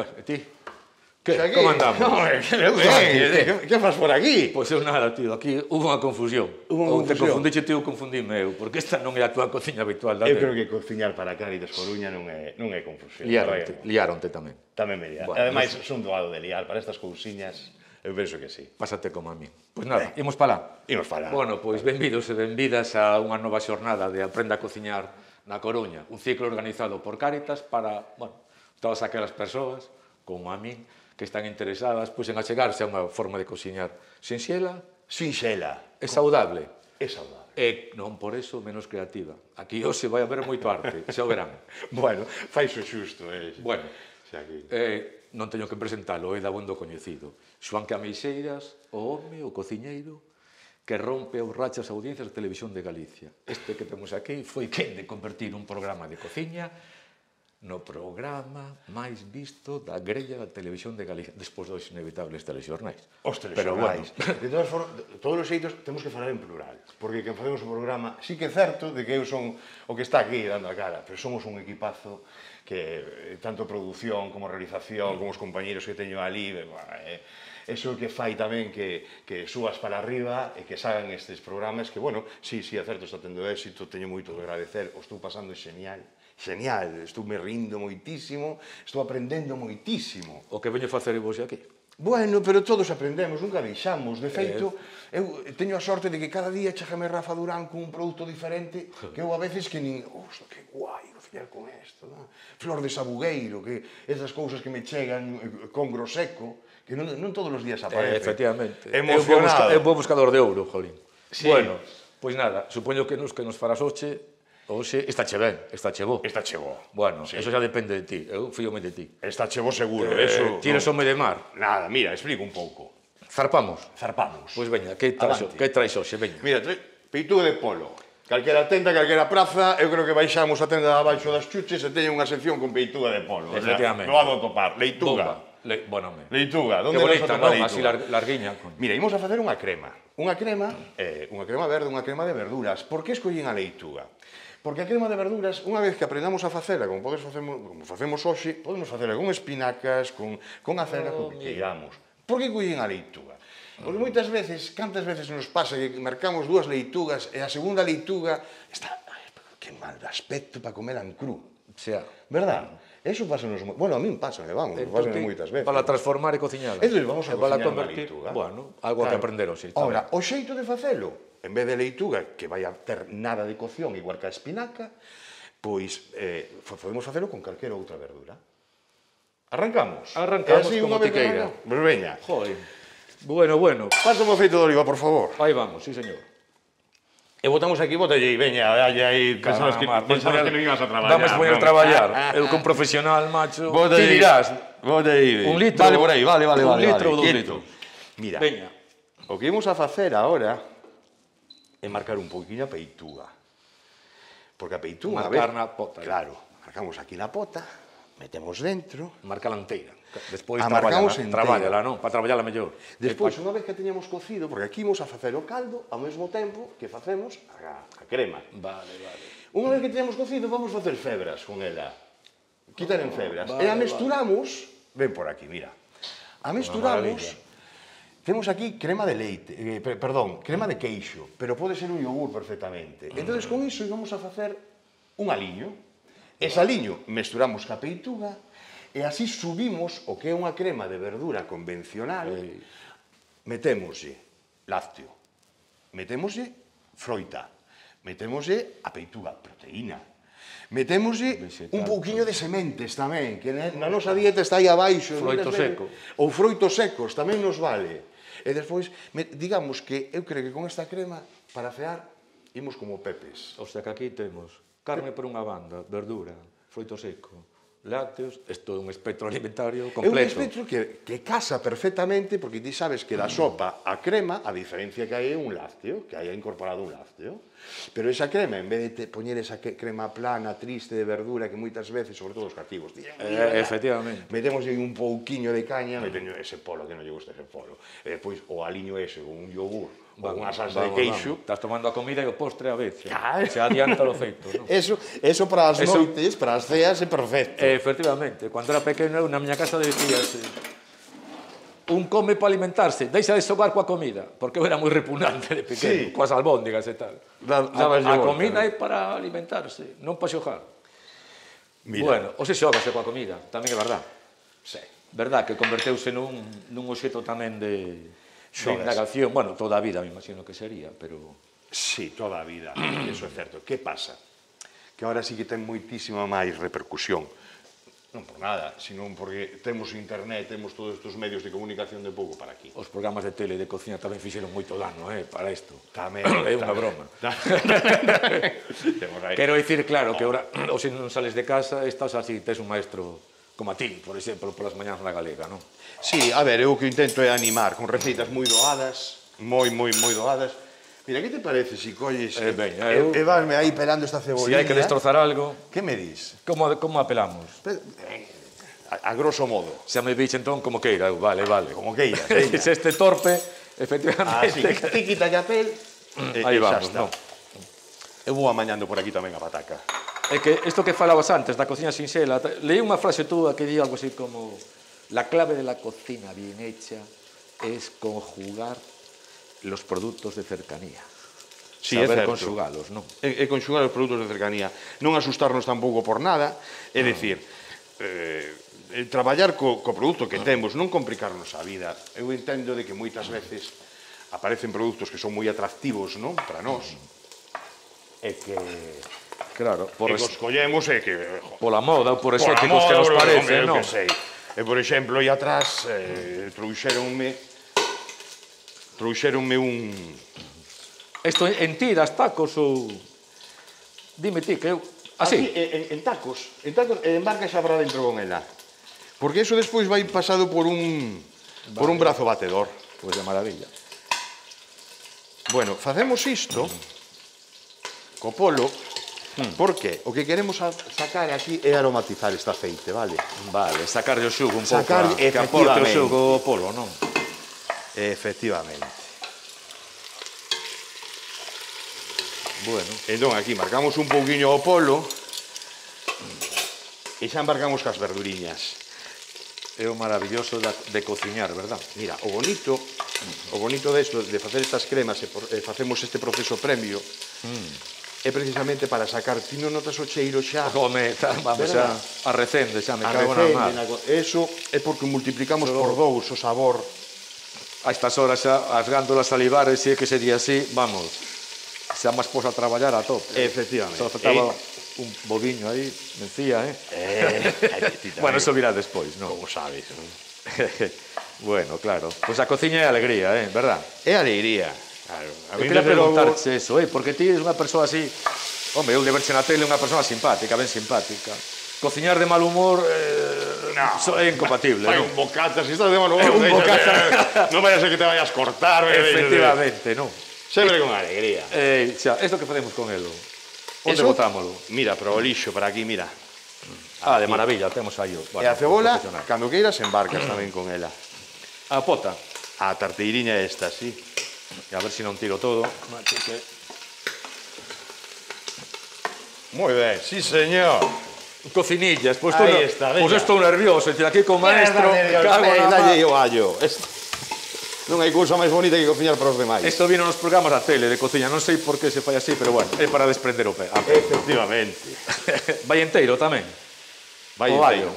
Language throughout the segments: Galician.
E ti? Que? Como andamos? Que fas por aquí? Pois eu nada, tío, aquí hubo unha confusión. Ou te confundiche ti ou confundime eu, porque esta non é a tua cociña habitual. Eu creo que cociñar para Cáritas Coruña non é confusión. Liaronte tamén. Tamén me liaron. Ademais, son doado de liar para estas cousiñas. Eu penso que sí. Pásate como a mí. Pois nada, imos para lá. Imos para lá. Bueno, pois benvidos e benvidas a unha nova xornada de Aprenda a Cociñar na Coruña. Un ciclo organizado por Cáritas para, bueno, todas aquelas persoas, como a min, que están interesadas pois, en achegarse a unha forma de cociñar sinxela, sinxela e saudable. É saudable. E non por eso menos creativa. Aquí hoxe vai haber moito arte, xa o verán. Bueno, faixo xusto. Bueno, non teño que presentalo, é da bondo coñecido. Xoán Cameixeiras, o home, o cociñeiro, que rompe ou racha as audiencias da Televisión de Galicia. Este que temos aquí foi quen de convertir un programa de cociña no programa máis visto da grella da Televisión de Galicia, despois dos inevitables telexornais. Os telexornais. De todas formas, todos os xeitos, temos que falar en plural, porque quen facemos o programa, sí que é certo de que eu son o que está aquí dando a cara, pero somos un equipazo que, tanto produción como realización, como os compañeros que teño ali, eso que fai tamén que subas para arriba e que sagan estes programas que, bueno, sí, é certo, está tendo éxito, teño moito que agradecer, o estou pasando genial, estou me rindo moitísimo, estou aprendendo moitísimo. O que veño facer vos aquí? Bueno, pero todos aprendemos, nunca deixamos. De feito, eu teño a sorte de que cada día chegame Rafa Durán con un produto diferente que eu a veces que nin... Osta, que guai, cociñar con isto, non? Flor de sabugueiro, que esas cousas que me chegan con groseco, que non todos os días aparecen. Efectivamente. Emocionado. É un bo buscador de ouro, jolín. Bueno, pois nada, supoño que nos farás hoxe. Oxe, estáche ben, estáche bo. Estáche bo. Bueno, eso xa depende de ti, eu fíome de ti. Estáche bo seguro, eso... Tires home de mar? Nada, mira, explico un pouco. Zarpamos? Zarpamos. Pois veña, que traes hoxe, veña? Mira, peituga de polo. Calquera tenda, calquera praza, eu creo que baixamos a tenda abaixo das chuches e teñen unha sección con peituga de polo. Efectivamente. Lo hado a topar. Leituga. Bueno, leituga, onde nos atopa leituga? Así larguiña. Mira, imos a facer unha crema. Unha crema verde, unha crema de verduras. Por que escollín a leituga? Porque a crema de verduras, unha vez que aprendamos a facela, como facemos hoxe, podemos facela con espinacas, con acelga, con que queiramos. Por que collín a leituga? Porque moitas veces, cantas veces nos pasa que marcamos dúas leitugas e a segunda leituga está... Que mal de aspecto para comer en cru. Xa. Verdad? Eso pásanos... Bueno, a min pásame, vamos, pásanos moitas veces. Para transformar e cociñala. Entón, vamos a cociñar unha leituga. Bueno, algo que aprender hoxe. Ora, o xeito de facelo, en vez de leituga, que vai a ter nada de cocción, igual que a espinaca, pois podemos facelo con calquera outra verdura. Arrancamos? Arrancamos como ti queira. Pois veña. Joder. Bueno. Pásame o feito de oliva, por favor. Aí vamos, sí, señor. E botamos aquí, botalle aí, veña, aí, pensabas que non ibas a traballar. Vamos poñer a traballar. Eu con profesional, macho. Ti dirás. Bota aí. Un litro. Vale, por aí, vale. Un litro ou 2 litros. Mira, veña. O que imos a facer agora é marcar un pouquinho a peituga. Porque a peituga... Marcar na pota. Claro, marcamos aquí na pota, metemos dentro... Marca la inteira. Despois traballala, non? Para traballala mellor. Despois, unha vez que teñamos cocido, porque aquí imos a facer o caldo ao mesmo tempo que facemos a crema. Vale. Unha vez que teñamos cocido, vamos facer febras con ela. Quitar en febras. E a mesturamos... Ven por aquí, mira. A mesturamos... Temos aquí crema de leite, crema de queixo, pero pode ser un yogur perfectamente. Entón, con iso íbamos a facer un aliño. Ese aliño mesturamos ca peituga e así subimos o que é unha crema de verdura convencional. Metémoslle lácteo, metémoslle froita, metémoslle a peituga, proteína, metémoslle un pouquiño de sementes tamén, que na nosa dieta está aí abaixo. Froito seco. Ou froitos secos, tamén nos vale. E despois, digamos que eu creo que con esta crema, para cear, imos como pepes. O sea que aquí temos carne por unha banda, verdura, froito seco, lácteos, isto é un espectro alimentario completo. É un espectro que casa perfectamente, porque ti sabes que da sopa a crema, a diferencia que hai é un lácteo, que hai incorporado un lácteo. Pero esa crema, en vez de poñer esa crema plana, triste de verdura, que moitas veces, sobre todo os cativos, efectivamente, metemos un pouquiño de caña, metemos ese polo, que non lle gusta ese polo, e depois o aliño ese, un yogur, ou unha salsa de queixo. Estás tomando a comida e o postre a vez. Claro. Se adianta o feito, non? Eso para as noites, para as ceas, é perfecto. Efectivamente, cando era pequeno, na miña casa decíase un come para alimentarse, deixa de xogar coa comida, porque eu era moi repugnante de pequeno, coas albóndigas e tal. A comida é para alimentarse, non para xogar. Bueno, ou se xogase coa comida, tamén é verdad. Verdad que converteuse nun obxeto tamén de indagación, bueno, toda a vida me imagino que sería, pero... Sí, toda a vida, eso é certo. Que pasa? Que agora sí que ten moitísima máis repercusión. Non por nada, senón porque temos internet, temos todos estes medios de comunicación de pouco para aquí. Os programas de tele e de cociña tamén fixeron moito dano, para isto. Tamén. É unha broma. Quero dicir, claro, que ahora, ou se non sales de casa, estás así, tes un maestro como a ti, por exemplo, polas mañás na Galega, non? Sí, a ver, eu o que intento é animar con receitas moi doadas, moi doadas. Mira, que te parece se colles e vasme aí pelando esta cebollina? Se hai que destrozar algo... Que me dis? Como apelamos? A grosso modo. Se me biche entón como queira, vale. Como queira. Se este torpe, efectivamente... Así, ti quita a pel aí vamos, non? Eu vou amañando por aquí tamén a pataca. É que isto que falabas antes da cocina sinxela, leí unha frase túa que di algo así como la clave de la cocina bien hecha es conjugar los productos de cercanía. Sí, saber conxugalos, non? É conxugar os produtos de cercanía. Non asustarnos tampouco por nada, é dicir, traballar co produto que temos, non complicarnos a vida. Eu entendo de que moitas veces aparecen produtos que son moi atractivos, non? Para nós. E que... Claro, que os collemos e que... Pola moda ou por exóticos que nos parecen, non? E, por exemplo, aí atrás, trouxeronme un... Isto en tiras, tacos ou... Dime ti, que eu... Así? En tacos, embarca xa para dentro con ela. Porque eso despois vai pasado por un brazo batedor. Pois de maravilla. Bueno, facemos isto co polo, porque o que queremos sacar aquí é aromatizar esta aceite, vale? Vale, sacarlle o xugo un pouco, que aporte o xugo o polo, non? Efectivamente. Bueno. Entón, aquí marcamos un pouquiño o polo e xa embarcamos cas verduriñas. É o maravilloso de cociñar, verdad? Mira, o bonito desto, de facer estas cremas e facemos este proceso premio, é precisamente para sacar, ti non notas o cheiro xa? Home, vamos xa, arrecende xa, me cago na mar. Eso é porque multiplicamos por dous o sabor. A estas horas xa, as gándolas salivares, se é que sería así, vamos, xa máis pos a traballar a tope. Efectivamente. Só faltaba un boviño aí, mencía, Bueno, eso virá despois, non? Como sabes, non? Bueno, claro. Pois a cociña é alegría, verdad? É alegría. Claro. Eu queria preguntarche eso, porque ti eres unha persoa así... Home, eu de verche na tele unha persoa simpática, ben simpática. Cociñar de mal humor é incompatible, non? Fai un bocata, se estás de mal humor... Un bocata... Non vayas a que te vayas cortar. Efectivamente, non? Sempre con alegría. Xa, isto que facemos con elo? Onde botámolo? Mira, para o lixo, para aquí, mira. De maravilla, temos aí o... E a cebola, cando queiras, embarcas tamén con ela. A pota? A tarteiriña esta, sí. E a ver se non tiro todo. Moi ben, sí, señor. Cocinillas, pois estou nervioso. Aquí con maestro, dalle o allo. Non hai cousa máis bonita que cociñar para os demais. Isto vino nos programas da tele de cociña, non sei por que se fai así, pero bueno, é para desprender o pé. Efectivamente. Vai enteiro tamén? Vai enteiro.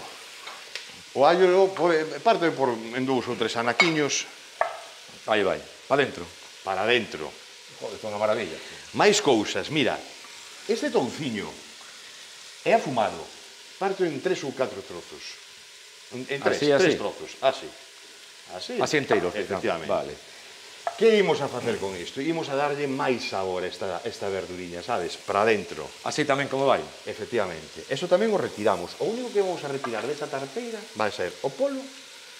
O allo parte en 2 ou 3 anaquiños. Aí vai, para dentro. Para dentro. Joder, é unha maravilla. Máis cousas, mira. Este touciño é afumado. Parto en 3 ou 4 trozos. En 3 trozos, así. Así enteiro, efectivamente. Vale. Que imos a facer con isto? Imos a darlle máis sabor a esta verduriña, sabes? Para dentro. Así tamén como vai? Efectivamente. Eso tamén o retiramos. O único que vamos a retirar desta tarteira vai ser o polo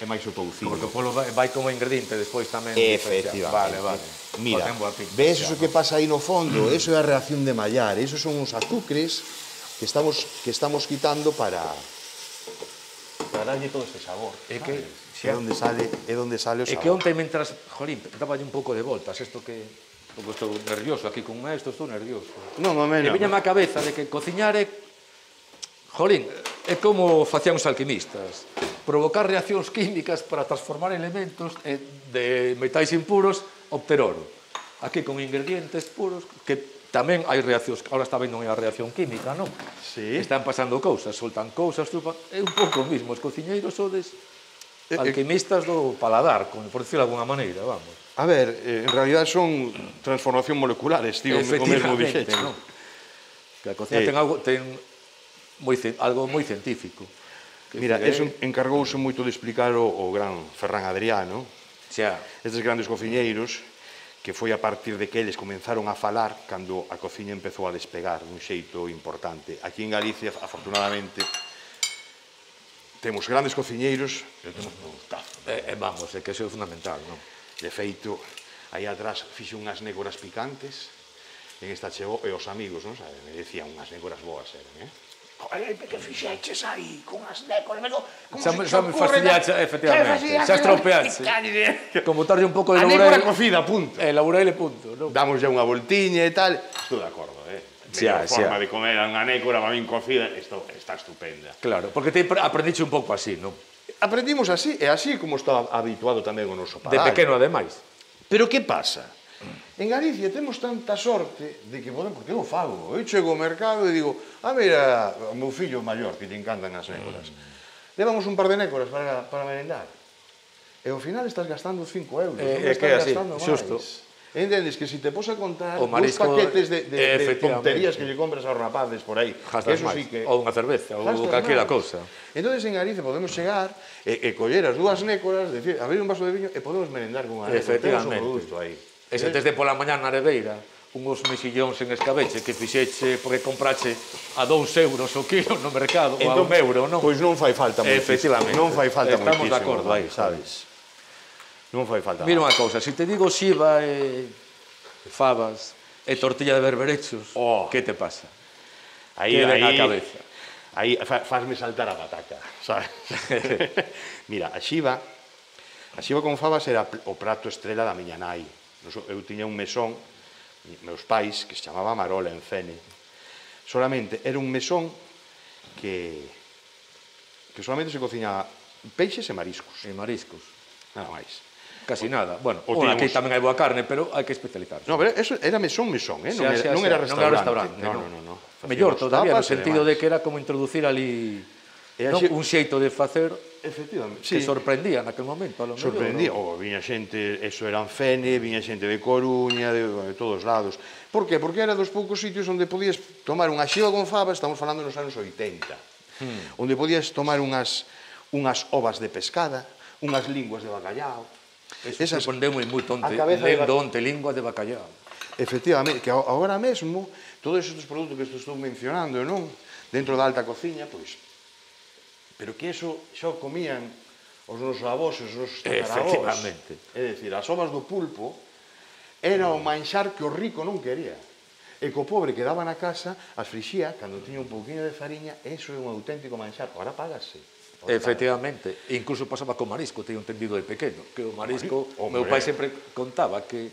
e máis o touciño. Porque o polo vai como ingrediente despois tamén. Efectivamente. Vale. Mira, ves eso que pasa aí no fondo? Eso é a reacción de Maillard. Esos son os azúcares que estamos quitando para para darlle todo este sabor. É que... É onde sale o sabor. É que onte, mentras, jolín, dáballe un pouco de voltas, isto que... Porque estou nervioso, aquí con esto estou nervioso. Non, home, E viñame a cabeza de que cociñar é... Jolín, é como facían os alquimistas. Provocar reaccións químicas para transformar elementos de metais impuros, obter oro. Aquí con ingredientes puros, que tamén hai reaccións, ahora está vendo a reacción química, non? Sí. Están pasando cousas, soltan cousas, é un pouco o mismo, os cociñeiros sodes alquimistas do paladar, por decirlo de alguna maneira, vamos. A ver, en realidad son transformación moleculares, tío, o mesmo dixeche, non? Que a cocina ten algo moi científico. Mira, eso encargouse moito de explicar o gran Ferran Adriano, estes grandes cociñeiros, que foi a partir de que eles comenzaron a falar cando a cociña empezou a despegar dun xeito importante. Aquí en Galicia, afortunadamente, temos grandes cociñeiros, pero temos produtazo. Vamos, é que iso é fundamental, non? De feito, aí atrás fixe unhas nécoras picantes, en esta chegou, e os amigos, non sabe, me decían unhas nécoras boas eran, Ai, que fixeches aí, con as nécoras, xa me fastidiaxe, efectivamente, xa estropeaxe. Como tarde un pouco de laurel. A nécora cocida, punto. Laurel e punto, non? Damos ya unha voltiña e tal, estou de acordo, Mellor forma de comer unha nécora, para min cocida, está estupenda. Claro, porque te aprendiche un pouco así, non? Aprendimos así, e así como está habituado tamén o noso paladar. De pequeno, ademais. Pero que pasa? En Galicia temos tanta sorte de que podemos, porque eu fago, eu chego ao mercado e digo, mira, o meu fillo maior, que lle encantan as nécoras, levamos un par de nécoras para merendar. E ao final estás gastando 5 euros, non estás gastando máis. Xusto. Entendes que se te pos a contar dos paquetes de tonterías que lle compras aos rapaces por aí, que eso sí que... Ou unha cerveza, ou calquera cousa. Entón, en Galicia podemos chegar e coller as dúas nécoras, abrir un vaso de viño e podemos merendar con unha nécora. Temos o produto aí. E se tes de pola mañá na arebeira unhos mexillóns en escabeche que fixeche porque comprache a 2 euros o kilo no mercado ou a 1 euro, non? Pois non fai falta moitísimo. Efectivamente. Non fai falta moitísimo. Estamos de acordo aí, sabes? Non fai falta. Mira unha cousa, se te digo xiva e fabas e tortilla de berberechos, que te pasa? Aí ven á cabeza. Aí fazme saltar a pataca, sabes? Mira, a xiva con fabas era o prato estrela da miña nai. Eu tiña un mesón, meus pais, que se chamaba Marola en Fene. Solamente era un mesón que solamente se cociñaba peixes e mariscos. E mariscos. Nada máis. Casi nada. Bueno, aquí tamén hai boa carne, pero hai que especializarse. No, pero eso era mesón, non era restaurante. Non. Mellor todavía, no sentido de que era como introducir ali un xeito de facer que sorprendía naquel momento. Sorprendía, viña xente, eso eran Fene, viña xente de Coruña, de todos lados. Por que? Porque era dos poucos sitios onde podías tomar unha xiva con fava, estamos falando nos anos 80, onde podías tomar unhas ovas de pescada, unhas linguas de bacallao. Eso sorprendeu moito lendo onte linguas de bacallao. Efectivamente, que agora mesmo, todos estes produtos que estou mencionando, non? Dentro da alta cociña, pois, pero que eso xa comían os nosos avós, os nosos tatarabós. É dicir, as ovas do pulpo era o manxar que o rico non quería. E co pobre que daba na casa, as frixía, cando tiña un pouquinho de fariña, eso é un auténtico manxar. Agora págase. Efectivamente. Incluso pasaba co marisco, teño entendido de pequeno, que o marisco, meu pai sempre contaba que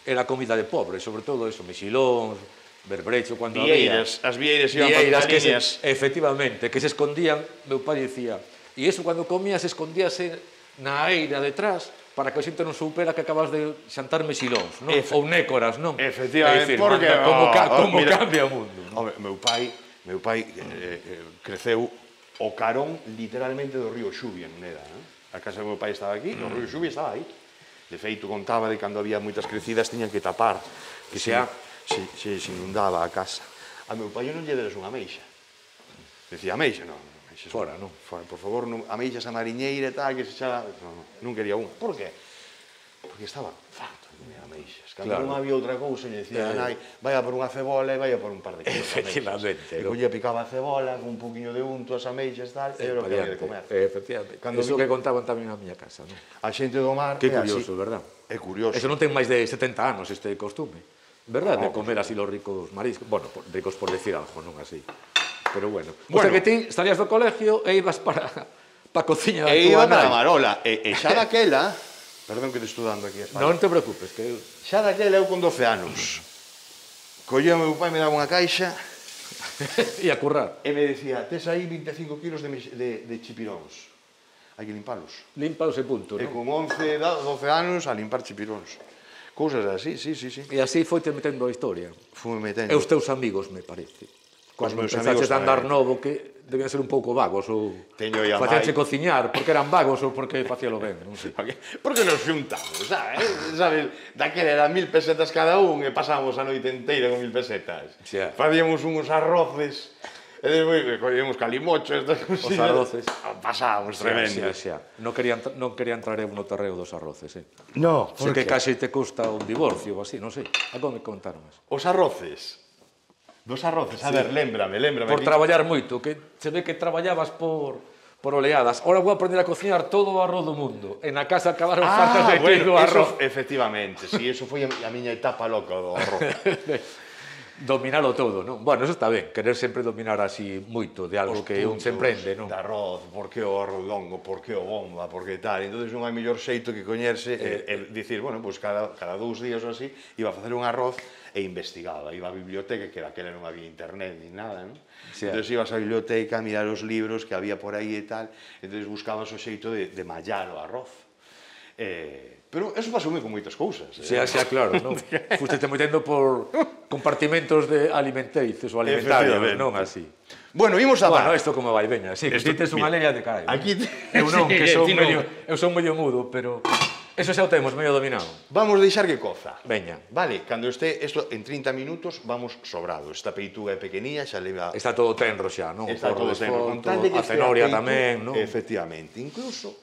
era comida de pobre, sobre todo eso, mexilóns, berbrecho, cando había... As vieiras iban para liñas. Efectivamente, que se escondían, meu pai dicía, e eso cando comías escondíase na eira detrás, para que a xente non supera que acabas de xantar mexilóns, non? Ou nécoras, non? Efectivamente, porque... Como cambia o mundo. Meu pai creceu o carón, literalmente, do río Xubia, en Neda. A casa do meu pai estaba aquí, o río Xubia estaba aí. De feito, contaba de cando había moitas crecidas, tiñan que tapar, que se inundaba a casa. A meu pai non lle deras unha ameixa. Decía, ameixa, non. Fora, non? Por favor, ameixas a mariñeira e tal, que se xa... Non quería unha. Por que? Porque estaba farto de comer ameixas. Cando non había outra cousa, lle decía a nai, vai a por unha cebola e vai a por un par de kilos de ameixas. Efectivamente. E collía, picaba a cebola, con un poquinho de unto, as ameixas, tal, e era o que había de comer. Efectivamente. Eso que contaban tamén na miña casa, non? A xente do mar... Que curioso, verdad? É curioso. Eso non ten máis de 70 anos, este costume. Verdad? De comer así los ricos mariscos. Bueno, ricos por decir algo, non así. Pero bueno. O sea que ti salías do colegio e ibas para pa cociña da E túa iba para a nai. Marola. E xa daquela... Perdón que te estou dando aquí a espalda. Non te preocupes, que eu... Xa daquela eu con 12 anos. Colleu meu pai, me daba unha caixa E a currar. e me decía, tes aí 25 kilos de chipiróns. Hai que limpalos. Límpalos e punto, E non? con 11, 12 anos a limpar chipiróns. Cousas así, sí. E así foite metendo a historia. Fume metendo. E os teus amigos, me parece. Cando meus empezaches amigos a andar tamén. novo, que debían ser un pouco vagos, ou Teño aí a facíanse mai. cociñar, porque eran vagos ou porque facíalo ben, non sei. Porque nos xuntamos, sabes? Daquela eran 1000 pesetas cada un e pasábamos a noite inteira con 1000 pesetas. Xa. Facíamos uns arroces e despois collíamos calimocho, estas cosillas. Os arroces. Pasábamos tremendos. Xa. Non quería entrar eu no terreo dos arroces, No, Sei que case te custa un divorcio ou así, non sei. Algo me contaron eso. Os arroces. Dos arroces, a ver, lémbrame. Por traballar moito, que se ve que traballabas por oleadas. Ora vou aprender a cociñar todo o arroz do mundo. E na casa acabaron faltas de bueno, do arroz. eso, efectivamente, sí, eso foi a miña etapa loca do arroz. Dominalo todo, non? Bueno, eso está ben, querer sempre dominar así moito de algo que un se emprende, non? De arroz, por que o arroz longo, por que o bomba, por que tal. Entón, non hai mellor xeito que coñerse e dicir, bueno, pues cada 2 días ou así iba a facer un arroz e investigaba. Iba á biblioteca, que daquela non había internet ni nada, non? Sí. Entón, ibas á biblioteca a mirar os libros que había por aí e tal, entón buscabas o xeito de mallar o arroz. Pero eso pasoume con moitas cousas. Xa, claro, non? Fustete metendo por compartimentos de alimenticios ou alimentarios, non así. Bueno, imos a Bueno, isto como vai, veña, sí, que ti tes unha leia de carallo. Aquí Eu non, sí, que son ti non. eu son medio mudo, pero eso xa o temos medio dominado. Vamos deixar que coza. Veña. Vale, cando este isto en 30 minutos vamos sobrado. Esta peituga é pequeniña, xa leva Está todo tenro xa, non? está todo tenro. Con tal de que a cenoria estea tamén, non? Efectivamente, incluso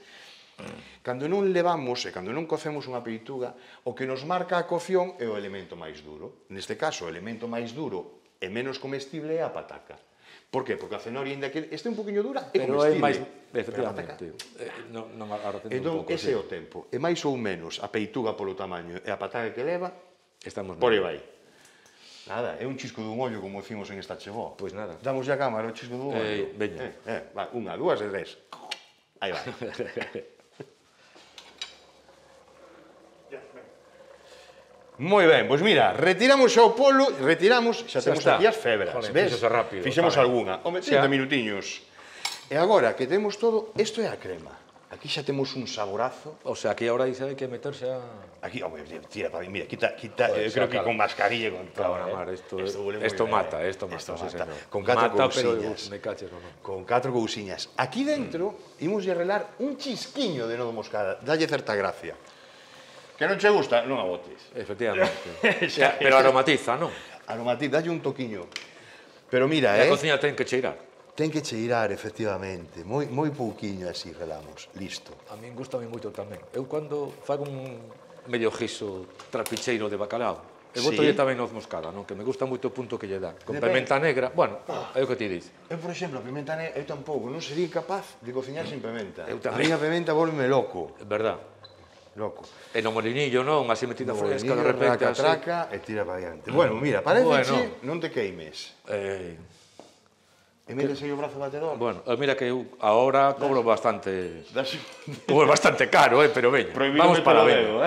cando non levamos e cando non cocemos unha peituga, o que nos marca a cocción é o elemento máis duro. Neste caso, o elemento máis duro e menos comestible é a pataca. Por qué? Porque a cenoria, ainda que este un poquinho dura, é Pero é comestible. máis, Pero a pataca- efectivamente. Non agora tendo Entón, un pouco, ese é o tempo. E máis ou menos, a peituga polo tamaño e a pataca que leva, Estamos por aí ben. vai. Nada, é un chisco dun ollo, como decimos en esta chegó. Pois nada. Damos ya a cámara, o chisco dun ollo. Veña. Va, 1, 2 e 3. Aí vai. Moi ben, pois mira, retiramos xa o polo, xa temos está. aquí as febras, Joder, ves? fíxose rápido, Fixemos tamén. algunha, home, Xa. 30 minutiños. E agora que temos todo, isto é a crema. Aquí xa temos un saborazo. O sea, aquí ahora hai que meterse a... Aquí, home, tira para mira, quita, Joder, creo que claro. con mascarilla e con todo. Claro, mar, esto huele moi esto ben, mata, esto mata, Esto sí, mata. señor. Con 4 Mata, pero cousiñas. me caches o non. Con 4 cousiñas. Aquí dentro, imos lle relar un chisquiño de nodo moscada. Dalle certa gracia. Que non che gusta? Non a botes. Efectivamente. Xa, Pero aromatiza, non? Aromatiz, dalle un toquiño. Pero mira, E a cociña ten que cheirar. ten que cheirar, efectivamente. Moi pouquiño así relamos. Listo. A min gustame moito tamén. Eu cando fago un medio guiso trapicheiro de bacalao, e boto Sí. tamén noz moscada, non? Que me gusta moito o punto que lle dá. Con Depende. pimenta negra, bueno, é o que ti dices. Eu, por exemplo, a pimenta negra, eu tampouco, non sería capaz de cociñar sin pimenta. Eu A tamén. miña pimenta volve loco. É verdad. Loco. E no molinillo, non? Así metida fresca, de repente, traca, así. traca, e tira para diante. Bueno, mira, parece Bueno. non te queimes. E metes aí o brazo batedor. Bueno, mira que eu agora cobro bastante... Das... Cobro bastante caro, pero veña. Prohibido Vamos meter para o ver. dedo,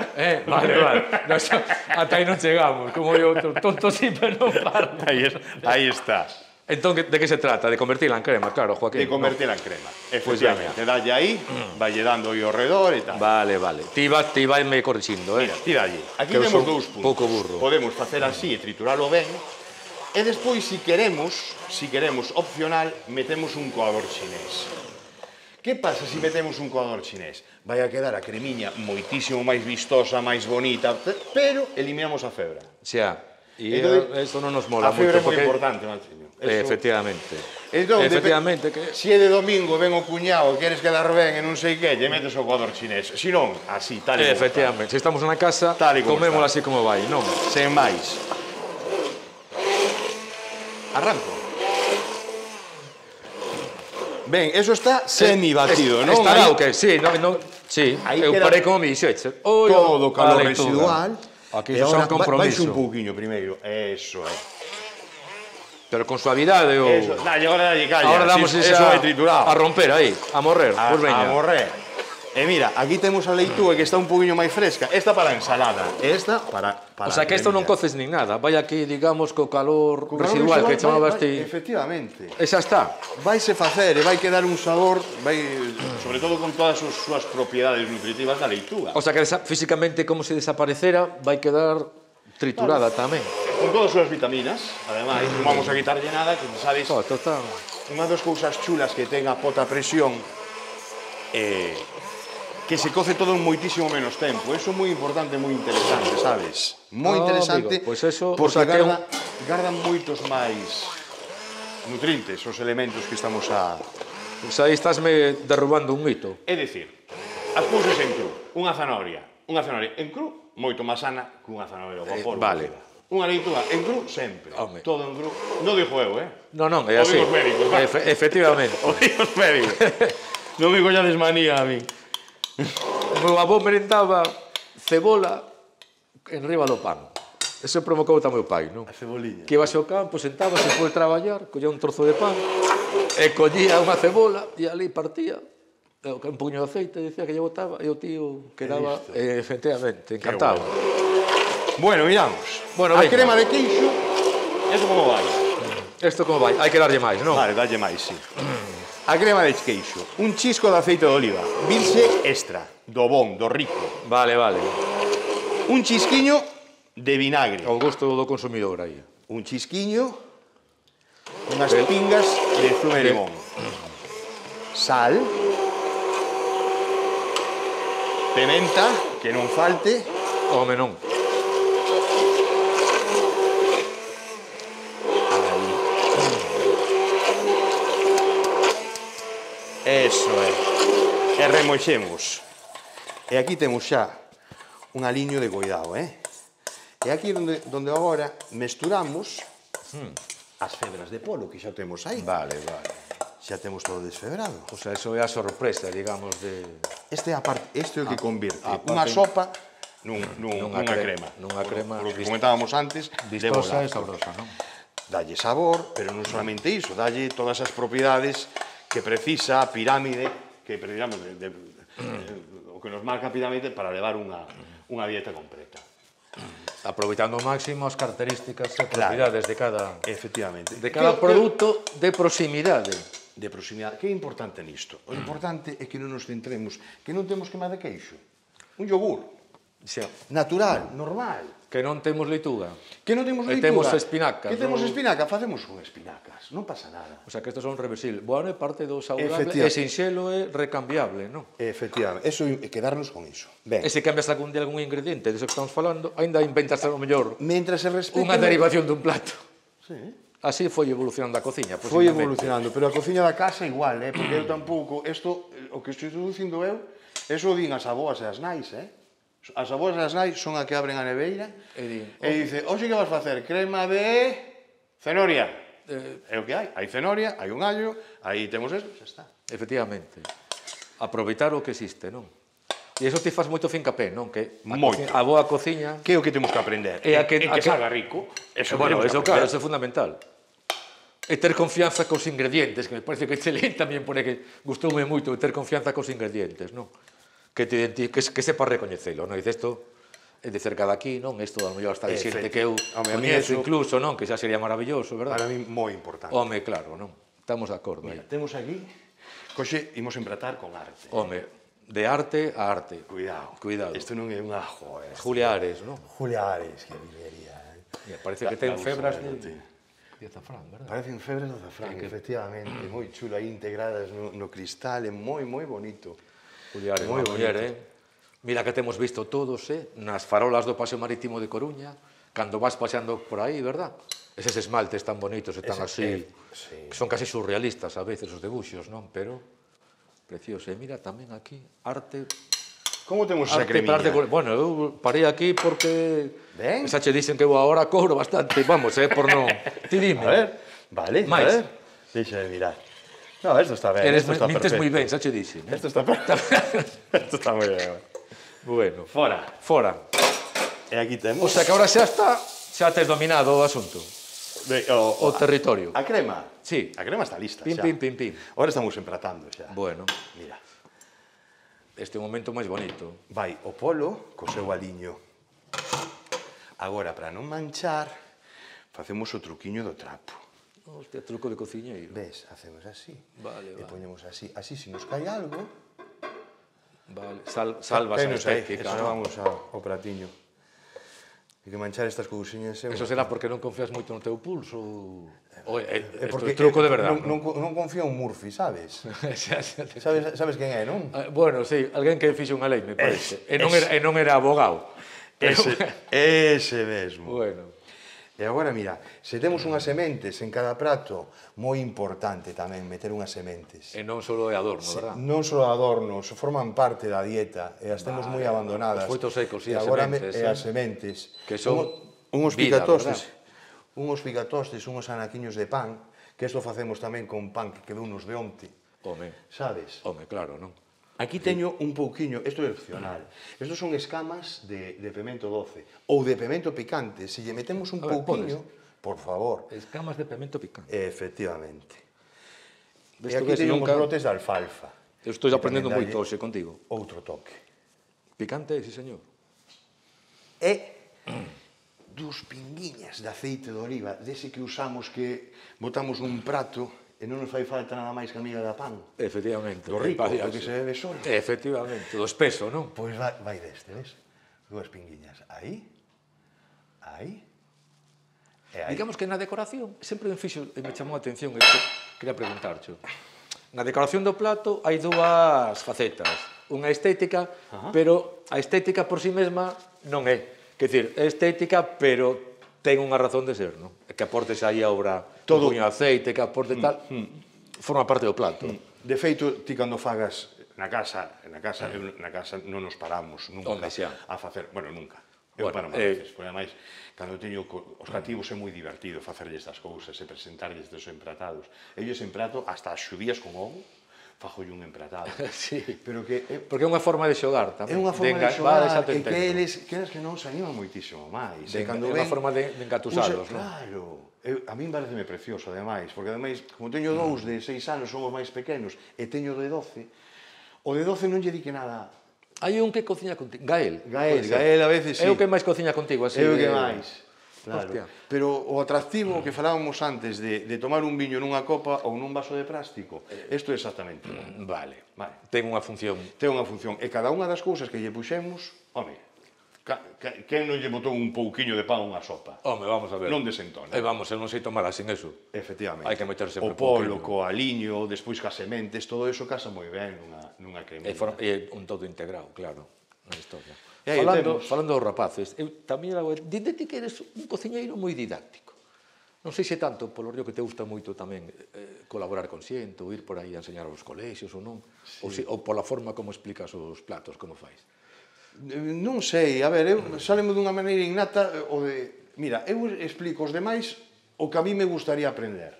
Vale, vale. Nos, ata aí non chegamos, como eu outro. Tonto sí, pero non parlo. Aí está. Entón, de que se trata? De convertirla en crema, claro, Joaquín. De convertela en crema. Pois Efectivamente. Dalle aí, valle dando aí ao redor e tal. Vale, vale. Ti vai me corrixindo, Mira, ti dalle. Aquí Que eu temos son 2 puntos. pouco burro. Podemos facer así e trituralo ben. E despois, si queremos, opcional, metemos un coador chinés. Que pasa se metemos un coador chinés? Vai a quedar a cremiña moitísimo máis vistosa, máis bonita, pero eliminamos a febra. Xa. E Entón, eso non nos mola A febra é moito, moi porque... importante, Machiño. Efectivamente. Entón, Efectivamente, que... Si é de domingo, ven o cuñado, queres quedar ben e non sei que, lle metes o coador chinés. Si non, así, tal e como Efectivamente. Se estamos na casa, Tal e como comémola está. así como vai, non? está. Sen máis. Arranco. Ben, eso está semi-batido, non? Estará Aí o que? Sí, sí. Aí Eu queda parei como me dixeche. Oi, todo o calor a leituga. residual. Aquí E son agora compromiso. Vais un pouquiño primeiro. Eso é. Pero con suavidade ou... Eso, dalle, agora dalle calla. Ahora damos eso vai triturado. a romper aí, a morrer. Pois veña. A morrer. E mira, aquí temos a leitúa que está un poquinho máis fresca. Esta para a ensalada. Esta para O sea, que isto non coces nin nada. Vai aquí, digamos, co calor residual que chamabas ti. Efectivamente. E xa está. Vaise facer e vai quedar un sabor, sobre todo con todas as súas propiedades nutritivas da leitúa. O sea, que físicamente como se desaparecera, vai quedar triturada tamén. Con todas as súas vitaminas, ademais, non vamos a quitarlle nada, que sabes, Isto está... unha das cousas chulas que ten a pota a presión que se coce todo en moitísimo menos tempo. Eso é moi importante, moi interesante, sabes? Moi interesante, amigo, pues eso, porque gardan moitos máis nutrientes os elementos que estamos a... Pois aí estásme derrubando un mito. É dicir, as cousas en cru, unha zanahoria en cru, moito máis sana que unha zanahoria ao vapor. Vale. Unha leitúa en cru sempre, Home. todo en cru. Non dixo eu, Non, é así. O digo os médicos, va. Efectivamente. O digo os médicos. Non me collades manía a mí. O meu avó merendaba cebola enriba do pan. Eso provocou tamén o pai, non? A ceboliña. Que ibase ao campo, sentábase por traballar, collía un trozo de pan, e collía unha cebola, e ali partía, un puño de aceite, dicía que lle botaba, e o tío quedaba, efectivamente, encantado. Bueno, miramos. Bueno, a venga. crema de queixo, eso como vai? Isto como vai? Hai que darlle máis, non? Vale, dalle máis, sí. A crema de queixo, un chisco de aceite de oliva, virxe extra, do bon, do rico. Vale. Un chisquiño de vinagre. Ao gusto do consumidor aí. Un chisquiño, unhas pingas de zume de limón. Sal. Pimenta, que non falte. Home, non. Eso é. E remoixemos. E aquí temos xa un aliño de coidado, E aquí donde agora mesturamos as febras de polo que xa temos aí. Vale. Xa temos todo desfebrado. O sea, eso é a sorpresa, digamos, de... Este é o que convirte unha sopa nunha crema. Nunha crema Por o que comentábamos antes, vistosa e sabrosa, non? Dalle sabor, pero non solamente iso, dalle todas as propiedades que precisa a pirámide, que precisamos o que nos marca a pirámide para levar unha dieta completa. Aproveitando ao máximo as características e propiedades de cada... Efectivamente. De cada produto de proximidade. De proximidade. Que é importante nisto? O importante é que non nos centremos, que non temos queima de queixo. Un yogur. Xa. Natural, normal. Que non temos leituga. Que non temos leituga. E temos espinacas. Que temos espinaca, facemos con espinacas. Non pasa nada. O sea, que estos son reversibles. Bueno, é parte do saudable, e sinxelo é recambiable, non? Efectivamente. Eso é quedarnos con iso. Ben. E se cambias algún ingrediente, diso que estamos falando, ainda inventas a lo mellor Mientras se respete unha derivación dun plato. Sí. Así foi evolucionando a cociña. Foi evolucionando, pero a cociña da casa igual, porque eu tampouco, o que estou dicindo eu, eso din as aboas e as nais, As aboas e as nais son a que abren a neveira e dice, hoxe que vas facer? Crema de cenoria. É o que hai. Hai cenoria, hai un allo, aí temos eso, xa está. Efectivamente. Aproveitar o que existe, non? E iso te faz moito fincapé, non? Que a boa cociña... Que é o que temos que aprender? É que salga rico. Bueno, eso claro, eso é fundamental. E ter confianza cos ingredientes, que me parece que Chelín tamén pone que gustoume moito ter confianza cos ingredientes, non? Que sepa recoñecelo, non? Dice, isto é de cerca daqui, non? Isto, a lo mellor, hasta de xente que eu coñezo incluso, non? Que xa sería maravilloso, verdad? Para mí, moi importante. Home, claro, non? Estamos de acordo. Mira, temos aquí, coxe, imos empratar con arte. Home, de arte a arte. Cuidado. Isto non é unha joa. Julia Ares, non? Julia Ares, que vivería. Parece que ten febras de azafrán, verdad? Parecen febras de azafrán, efectivamente. Moi chulo, aí integradas no cristal, é moi bonito. Julia Ares, moi muller, Mira que temos visto todos, nas farolas do Paseo Marítimo de Coruña, cando vas paseando por aí, verdad? Eses esmaltes tan bonitos, están así, que son casi surrealistas a veces os debuxos, non? Pero precioso. E mira tamén aquí, arte... Como temos esa cremiña? Bueno, eu parei aquí porque... Xa che dicen que eu agora cobro bastante, vamos, por non... Ti dime. A ver, vale, a ver. Deixa de mirar. No, esto está ben, esto está perfecto. Mintes moi ben, xa che dixen. Esto está perfecto. Esto está moi ben. Bueno. Fora. E aquí temos... O sea que agora xa está, xa tes dominado o asunto. o territorio. A crema? Sí. A crema está lista Pim, xa. pim, pim, pim. Ahora estamos empratando xa. Bueno, Mira, este é o momento máis bonito. vai o polo co seu aliño. Agora, para non manchar, facemos o truquiño do trapo. Hostia, truco de cociñeiro. Ves, hacemos así. Vale, E vale. poñemos así. Así, se nos cae algo... Vale, salvas a Penos aí, estética. eso ¿no? vamos ao pratiño. Hai que manchar estas cousiñas. Eso será porque non confías moito no teu pulso? Oye, É isto porque é truco de verdade. non confío en Murphy, sabes? Xa, xa te- Sabes quen é, non? Bueno, sí, alguén que fixo unha lei, me parece. E non era abogado. Ese mesmo. Bueno, E agora, mira, se temos unhas sementes en cada prato, moi importante tamén meter unhas sementes. e non só é adorno, verdad? Non só adornos, forman parte da dieta e as temos moi abandonadas. Os frutos secos e E as agora sementes, as sementes. que son unhos vida, picatostes, unhos anaquiños de pan, que isto facemos tamén con pan que quedounos de onte, Home, sabes? claro, non? Aquí teño un pouquiño, isto é opcional. Estos son escamas de pemento doce ou de pemento picante. Se lle metemos un A ver, pouquiño, por favor. Escamas de pemento picante. Efectivamente. E Isto aquí ves, teño uns nunca- brotes de alfalfa. Eu estou que aprendendo tamén moito dalle hoxe contigo. Outro toque. Picante, sí, señor. E dos pinguiñas de aceite de oliva, dese que usamos que botamos nun prato e non nos fai falta nada máis que a miga da pan. Efectivamente. Do rico, Vaya, do que se bebe solo. Efectivamente, do espeso, non? Pois vai deste, ves? Dúas pinguiñas. Aí. Aí. E aí. Digamos que na decoración sempre me fixo e me chamou a atención e que quería preguntarche. Na decoración do plato hai dúas facetas. Unha estética, pero a estética por si mesma non é. Quer dizer, é estética, pero ten unha razón de ser, non? Que aportes aí a obra Todo. un puño de aceite, que aporte tal, forma parte do plato. De feito, ti cando fagas na casa non nos paramos nunca Home, xa. a facer, bueno, nunca. Eu Bueno, paro máis veces, porque ademais, cando teño os cativos é moi divertido facerlle estas cousas e presentarlles estes empratados. Ellos emprato hasta as xudías con ovo, fajolle un empratado. Sí. Pero que é Porque é unha forma de xogar tamén. É unha forma de Vale, xogar xa te e que entendo. eles que non se animan moitísimo máis. É E cando unha ven, forma de engatusalos, non? Claro. A min pareceme precioso, ademais, porque ademais, como teño dous de 6 anos, son os máis pequenos, e teño de 12, o de 12 non lle di que nada. Hai un que cociña contigo. Gael. Gael a veces sí. É o que máis cociña contigo, así. É o que máis. Claro. Hostia. Pero o atractivo que falábamos antes de tomar un viño nunha copa ou nun vaso de plástico, isto é exactamente igual. Vale. Vale. Ten unha función. Ten unha función. E cada unha das cousas que lle puxemos, home, quen non lle botou un pouquiño de pan a unha sopa? Home, vamos a ver. Non desentona. Vamos, eu non sei tomar sin eso. Efectivamente. Hai que meter sempre o polo, pouquiño. co aliño, despois cas sementes, todo eso casa moi ben nunha cremita. É un todo integrado, claro, na historia. E aí Falando dos rapaces, eu tamén dinde ti que eres un cociñeiro moi didáctico. Non sei se tanto polo río que te gusta moito tamén colaborar con xente, ou ir por aí a enseñar aos colexios ou non, ou pola forma como explicas os platos, como fais. Non sei, a ver, eu salemo dunha maneira innata o de, mira, eu explico aos demais o que a mí me gustaría aprender.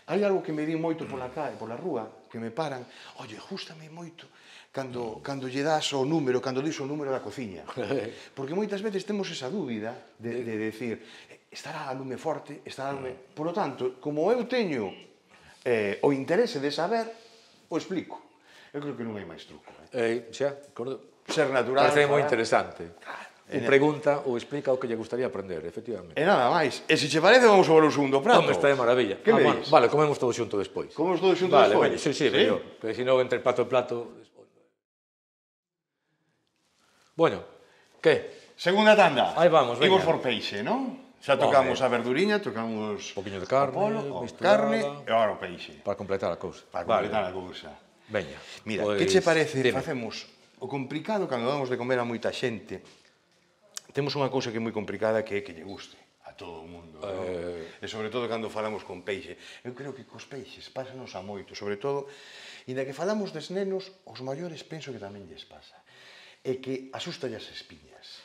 Hai algo que me di moito pola calle, pola rúa, que me paran, oye, gústame moito cando lle das o número, cando dis o número da cociña. Porque moitas veces temos esa dúbida de decir, estará a lume forte, estará a lume... Por lo tanto, como eu teño o interese de saber, o explico. Eu creo que non hai máis truco. Xa, Ser natural. parece moi interesante. Ou pregunta ou explica o que lle gustaría aprender, efectivamente. E nada máis. E se che parece, vamos a ver o segundo prato. Home, está de maravilla. Que me dis? Vale, comemos todo xunto despois. Comemos todo xunto vale, despois? Vale, sí, mellor. Porque se non, entre plato e plato... Bueno, que? Segunda tanda. Aí vamos, veña. Imos por peixe, non? Xa tocamos a verduriña, tocamos... Un poquinho de carne, o polo, misturada. carne e agora o peixe. Para completar a cousa. Para completar a cousa. Veña. Mira, pois, que che parece? dime. Facemos o complicado cando damos de comer a moita xente. Temos unha cousa que é moi complicada que é que lle guste a todo o mundo. E sobre todo cando falamos con peixe. Eu creo que cos peixes pásanos a moito. Sobre todo, inda que falamos des nenos, os maiores penso que tamén lles pasa. É que asustalle as espiñas.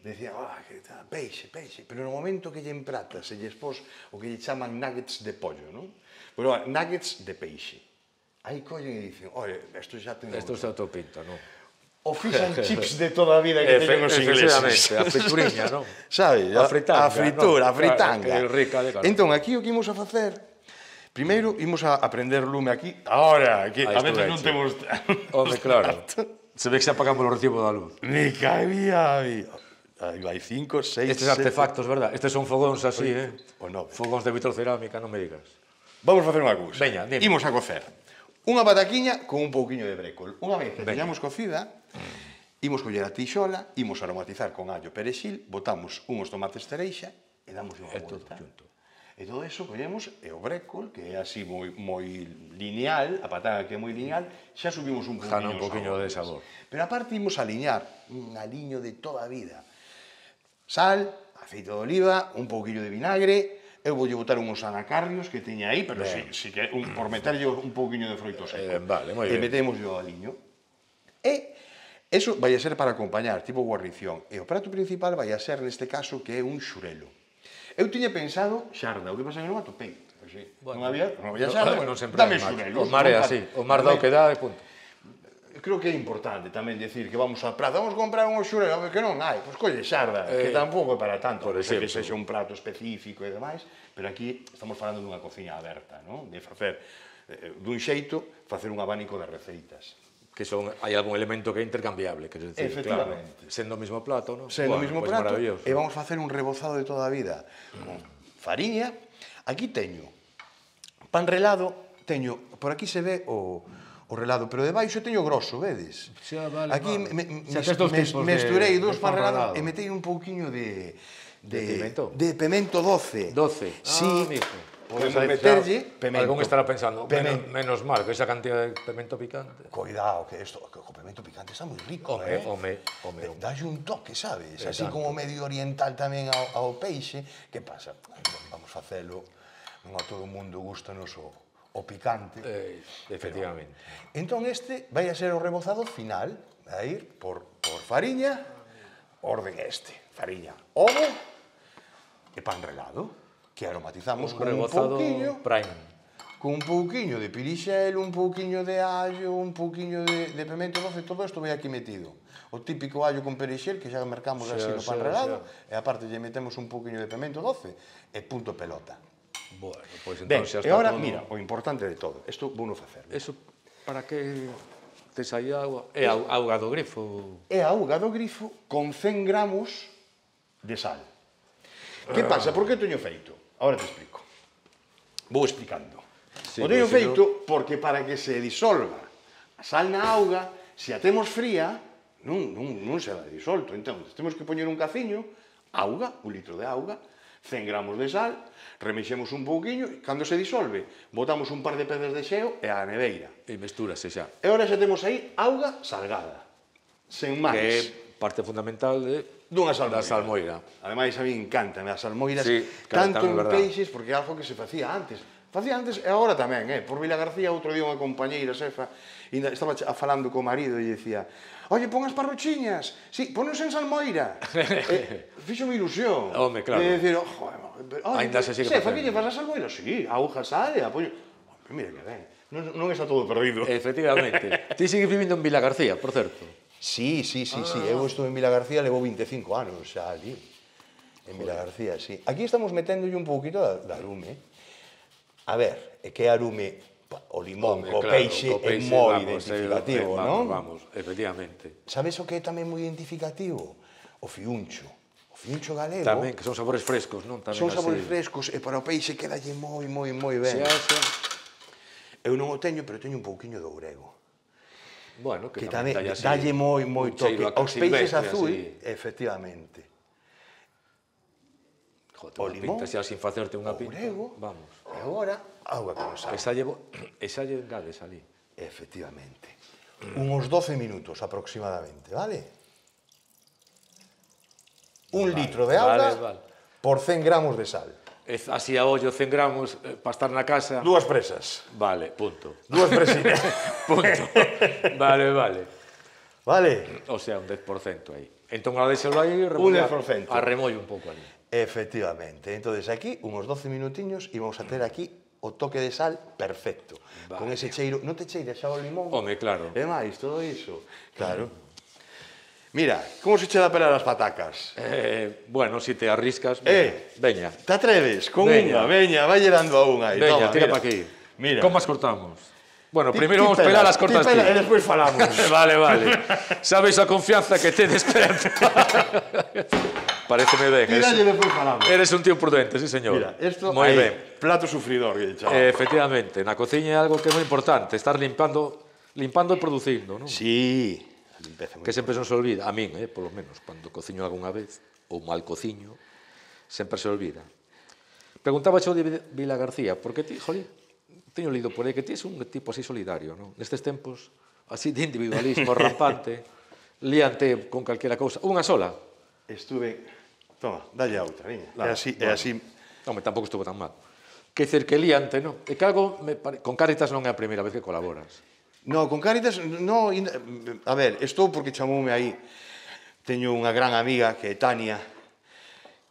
Decía, que tal, peixe. Pero no momento que lle empratas e lles pos o que lle chaman nuggets de pollo, non? Pero nuggets de peixe. Aí collen e dicen, oi, isto xa ten... Isto xa te pinta, non? o fish and chips de toda a vida que teñen os ingleses. A frituriña, non? Sabes? A fritanga, a fritura, non? a fritanga. Claro, que é rica de cara. Entón, aquí o que imos a facer, primeiro imos a prender lume aquí. Ahora, que a veces non temos... Home, claro. Se ve que se apagamos o recibo da luz. Me caía, aí vai 5, 6, 7... Estes artefactos, verdad? Estes son fogóns así, O 9. Fogóns de vitrocerámica, non me digas. Vamos a facer unha cousa. Veña, dime. Imos a cocer unha pataquiña con un pouquiño de brécol. Unha vez que teñamos cocida, imos coller a tixola, imos aromatizar con allo perexil, botamos unhos tomates cereixa e damos unha volta. E todo eso collemos e o brécol, que é así moi lineal, a patata que é moi lineal, xa subimos un poquinho de sabor. Pero aparte imos a aliñar un aliño de toda a vida. Sal, aceite de oliva, un pouquillo de vinagre. Eu voulle botar uns anacardios que teña aí, pero si que por meterlle un pouquiño de froito seco. Vale, moi ben. E metemos o aliño. E eso vai a ser para acompañar, tipo guarnición. E o prato principal vai a ser, neste caso, que é un xurelo. Eu tiña pensado xarda, o que pasa que non atopei. Non había xarda, dame xurelo. O mar é así, o mar dá o que dá e punto. Creo que é importante tamén decir que vamos á praza, vamos comprar un xurelo, que non hai, pois colle xarda, que tampouco é para tanto, por exemplo, que sexa un prato específico e demais, pero aquí estamos falando dunha cociña aberta, non? De facer, dun xeito, facer un abanico de receitas. Que hai algún elemento que é intercambiable, quer dizer, efectivamente. Claro, sendo o mesmo plato, non? Sendo o mesmo prato, e vamos facer un rebozado de toda a vida, con fariña. Aquí teño pan relado, teño, por aquí se ve o relado, pero debaixo teño grosso, vedes? Aquí mesturei dous pan relado e metei un pouquiño de pemento doce. Sí, podemos meterlle pemento. Algún estará pensando, menos mal, que esa cantidad de pemento picante. Cuidado, que o pemento picante está moi rico, Home. Dalle un toque, sabes? Así como medio oriental tamén ao peixe. Que pasa? Vamos facelo, non a todo o mundo gustanos o picante. Efectivamente. Entón este vai a ser o rebozado final, a ir por fariña, orden fariña, ovo e pan relado, que aromatizamos con un pouquiño, con un pouquiño de pirixel, un pouquiño de allo, un pouquiño de pemento doce, todo isto vai aquí metido. O típico allo con perixel que xa mercamos así no pan relado, e aparte lle metemos un pouquiño de pemento doce e punto pelota. Bueno, pois entón xa está todo... E agora, todo... mira, o importante de todo, isto vou non facer. Eso, para que tes aí agua? É auga do grifo? É auga do grifo con 100 gramos de sal. Que pasa? Por que teño feito? Agora te explico. Vou explicando. O teño feito porque para que se disolva a sal na auga, se a temos fría, non se vai disolto. Entón, temos que poñer un caciño, auga, un litro de auga, 100 gramos de sal, remexemos un pouquiño, e cando se disolve, botamos un par de pedras de xeo e a neveira. E mestúrase xa. E agora xa temos aí auga salgada, sen máis. Que é parte fundamental dunha salmoira. Ademais, a mí encanta as salmoiras, tanto en peixes, porque é algo que se facía antes. Facía antes e agora tamén, por Vila García, outro día unha compañeira xefa, estaba falando co marido e dicía: oye, pon as parrochiñas, sí, ponos en salmoira. Fixo-me ilusión. Home, claro. De decir, ainda se sigue facendo. Xefa, que lle faz a salmoira? Sí, auga, sal e apoio. Mira que ben, non está todo perdido. Efectivamente. Ti sigues vivindo en Vila García, por certo. Sí. Eu estou en Vila García, levo 25 anos xa ali. En Vila García, sí. Aquí estamos meténdolle un pouquito de arume. A ver, é que arume o limón, o peixe é moi identificativo, non? Vamos, efectivamente. Sabes o que é tamén moi identificativo? O fiuncho. O fiuncho galego. Tamén, que son sabores frescos, non? Son sabores frescos e para o peixe quedalle moi ben. Eu non o teño, pero teño un pouquiño de ourego. Bueno, que tamén dalle moi toque. Os peixes azul, efectivamente. O limón, xa sin facerte unha pinta. Vamos. E agora, auga con sal. E xa lle engades ali. Efectivamente. Unos 12 minutos aproximadamente, vale? Un litro de auga por 100 gramos de sal. Así a ollo 100 gramos para estar na casa. 2 presas. Vale, punto. 2 presitas. Punto. Vale. Vale? O sea, un 10% aí. Entón, a deixalo aí, arremollo un pouco ali. Efectivamente. Entonces aquí, unos 12 minutiños, e vamos a ter aquí o toque de sal perfecto. Con ese cheiro, non te cheira xa o limón? Home, claro. E máis, todo iso. Claro. Mira, como se che dá pelar as patacas? Bueno, si te arriscas, veña. Te atreves? Con unha, veña, vai dando a unha aí. Veña, tira pa aquí. Mira. Como as cortamos? Bueno, primeiro vamos pelar as cortas ti. E despois falamos. Vale. Sabes a confianza que te despierta. Pareceme ben. Tiralle e despois falamos. Eres un tío prudente, sí, señor. Mira, isto moi ben. Plato sufridor, que chaval. Efectivamente, na cociña é algo que é moi importante, estar limpando e producindo, non? Sí. Que sempre se nos olvida, a min, polo menos, cando cociño algunha vez, ou mal cociño, sempre se olvida. Preguntaba xo de Vila García, porque ti, jolín, teño lido por aí que ti és un tipo así solidario, non? Nestes tempos, así de individualismo rampante, líante con calquera cousa. Unha sola? Estuve... Toma, dalle a outra, viña. É así... Home, tampouco estuvo tan mal. Que dizer que líante, non? É que algo, con Cáritas non é a primeira vez que colaboras. No, con Cáritas, no... A ver, estou porque chamoume aí. Teño unha gran amiga que é Tania,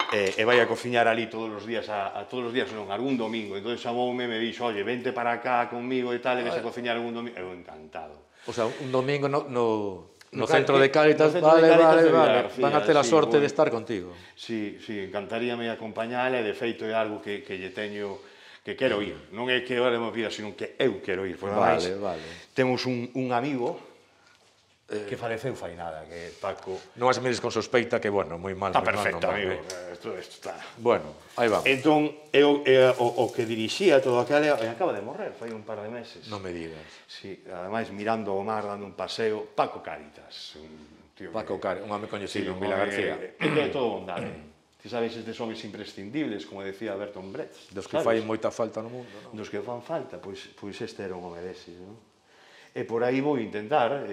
e vai a cociñar ali todos os días, todos os días non, algún domingo. Entón chamoume e me dixo, oye, vente para cá conmigo e tal, e ves a cociñar algún domingo. Eu encantado. O sea, un domingo no centro de Cáritas, vale. Van a ter a sorte de estar contigo. Sí, encantaríame acompañala, e de feito é algo que lle teño... que quero ir, non é que ahora me pida, sino que eu quero ir. Vale. Temos un amigo que faleceu fai nada, que é Paco. Non as mires con sospeita que, bueno, moi mal. Está perfecto, amigo. Isto está... Bueno, aí vamos. Entón, o que dirixía todo aquele, acaba de morrer, fai un par de meses. Non me digas. Sí, ademais, mirando o mar, dando un paseo, Paco Cáritas. Paco Cáritas, un home coñecido en Vila García. É todo bondade. Ti sabes estes homes imprescindibles, como decía Bertolt Brecht. Dos que fai moita falta no mundo, non? Dos que fan falta, pois este era un home deses, non? E por aí vou intentar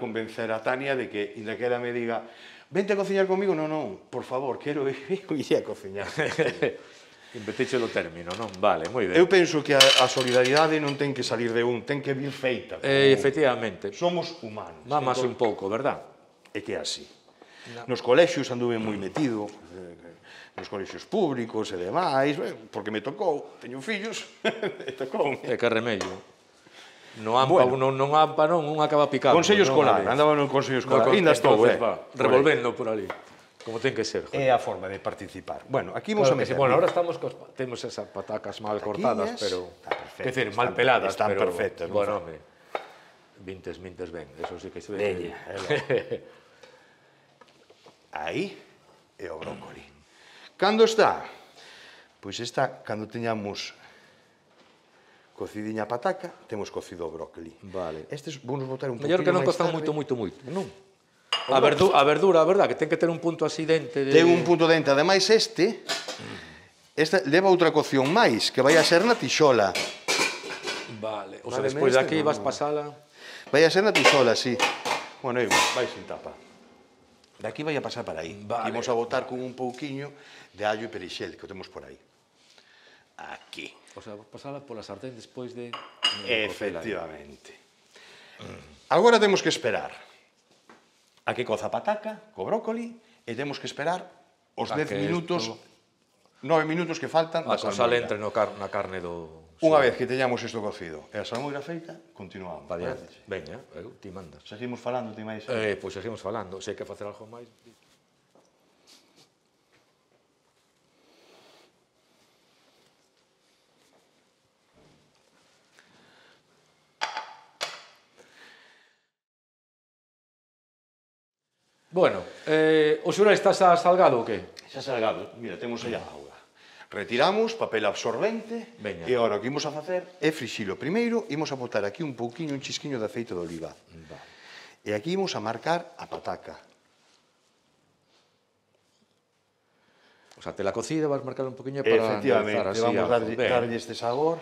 convencer a Tania de que, inda que ela me diga, vente a cociñar comigo, non, por favor, quero ir a cociñar. Invetiche do término, non? Vale, moi ben. Eu penso que a solidaridade non ten que salir de un, ten que vir feita. Efectivamente. Somos humanos. Mámase un pouco, verdad? É que é así. Nos colexios anduve moi metido, nos colexios públicos e demais, porque me tocou, teño fillos, e tocou. É que remedio. No AMPA, non AMPA non, un acaba picando. Consello escolar, andaba no consello escolar. Ainda estou, revolvendo por ali. Como ten que ser. É a forma de participar. Bueno, aquí vamos a meter. Bueno, ahora temos esas patacas mal cortadas, pero... Quer dizer, mal peladas, pero... Están perfectas. Bueno, home, vintes ben, eso sí que se ve. Aí é o brócoli. Cando está? Pois está, cando teñamos cocidiña a pataca, temos cocido o brócoli. Vale. Estes vamos botar un poquinho Mellor máis que non costan moito, non? A verdura, a verdad, que ten que ter un punto así dente de... Ten un punto dente, ademais este leva outra cocción máis, que vai a ser na tixola. Vale, o sea, despois de aquí vas pasala... Vai a ser na tixola, sí. Bueno, vai sin tapa. De aquí vai a pasar para aí. Imos a botar con un pouquiño de allo e perixel, que o temos por aí. Aquí. O sea, pasala pola sartén despois de... Efectivamente. Agora temos que esperar a que coza a pataca, co brócoli, e temos que esperar os 10 minutos, 9 minutos que faltan da salmoira. A sal entre na carne do... Unha vez que teñamos isto cocido e a salmoira feita, continuamos. Veña, ti mandas. Seguimos falando, ti máis? Pois seguimos falando. Se hai que facer algo máis... Bueno, o xural está xa salgado ou que? Xa salgado. Mira, temos aí a auga. Retiramos papel absorbente e agora o que imos a facer é frixilo. Primeiro, imos a botar aquí un pouquiño, un chisquiño de aceite de oliva. E aquí imos a marcar a pataca. O sea, te la cocida, vas marcar un poquinho para... Efectivamente, vamos darlle este sabor.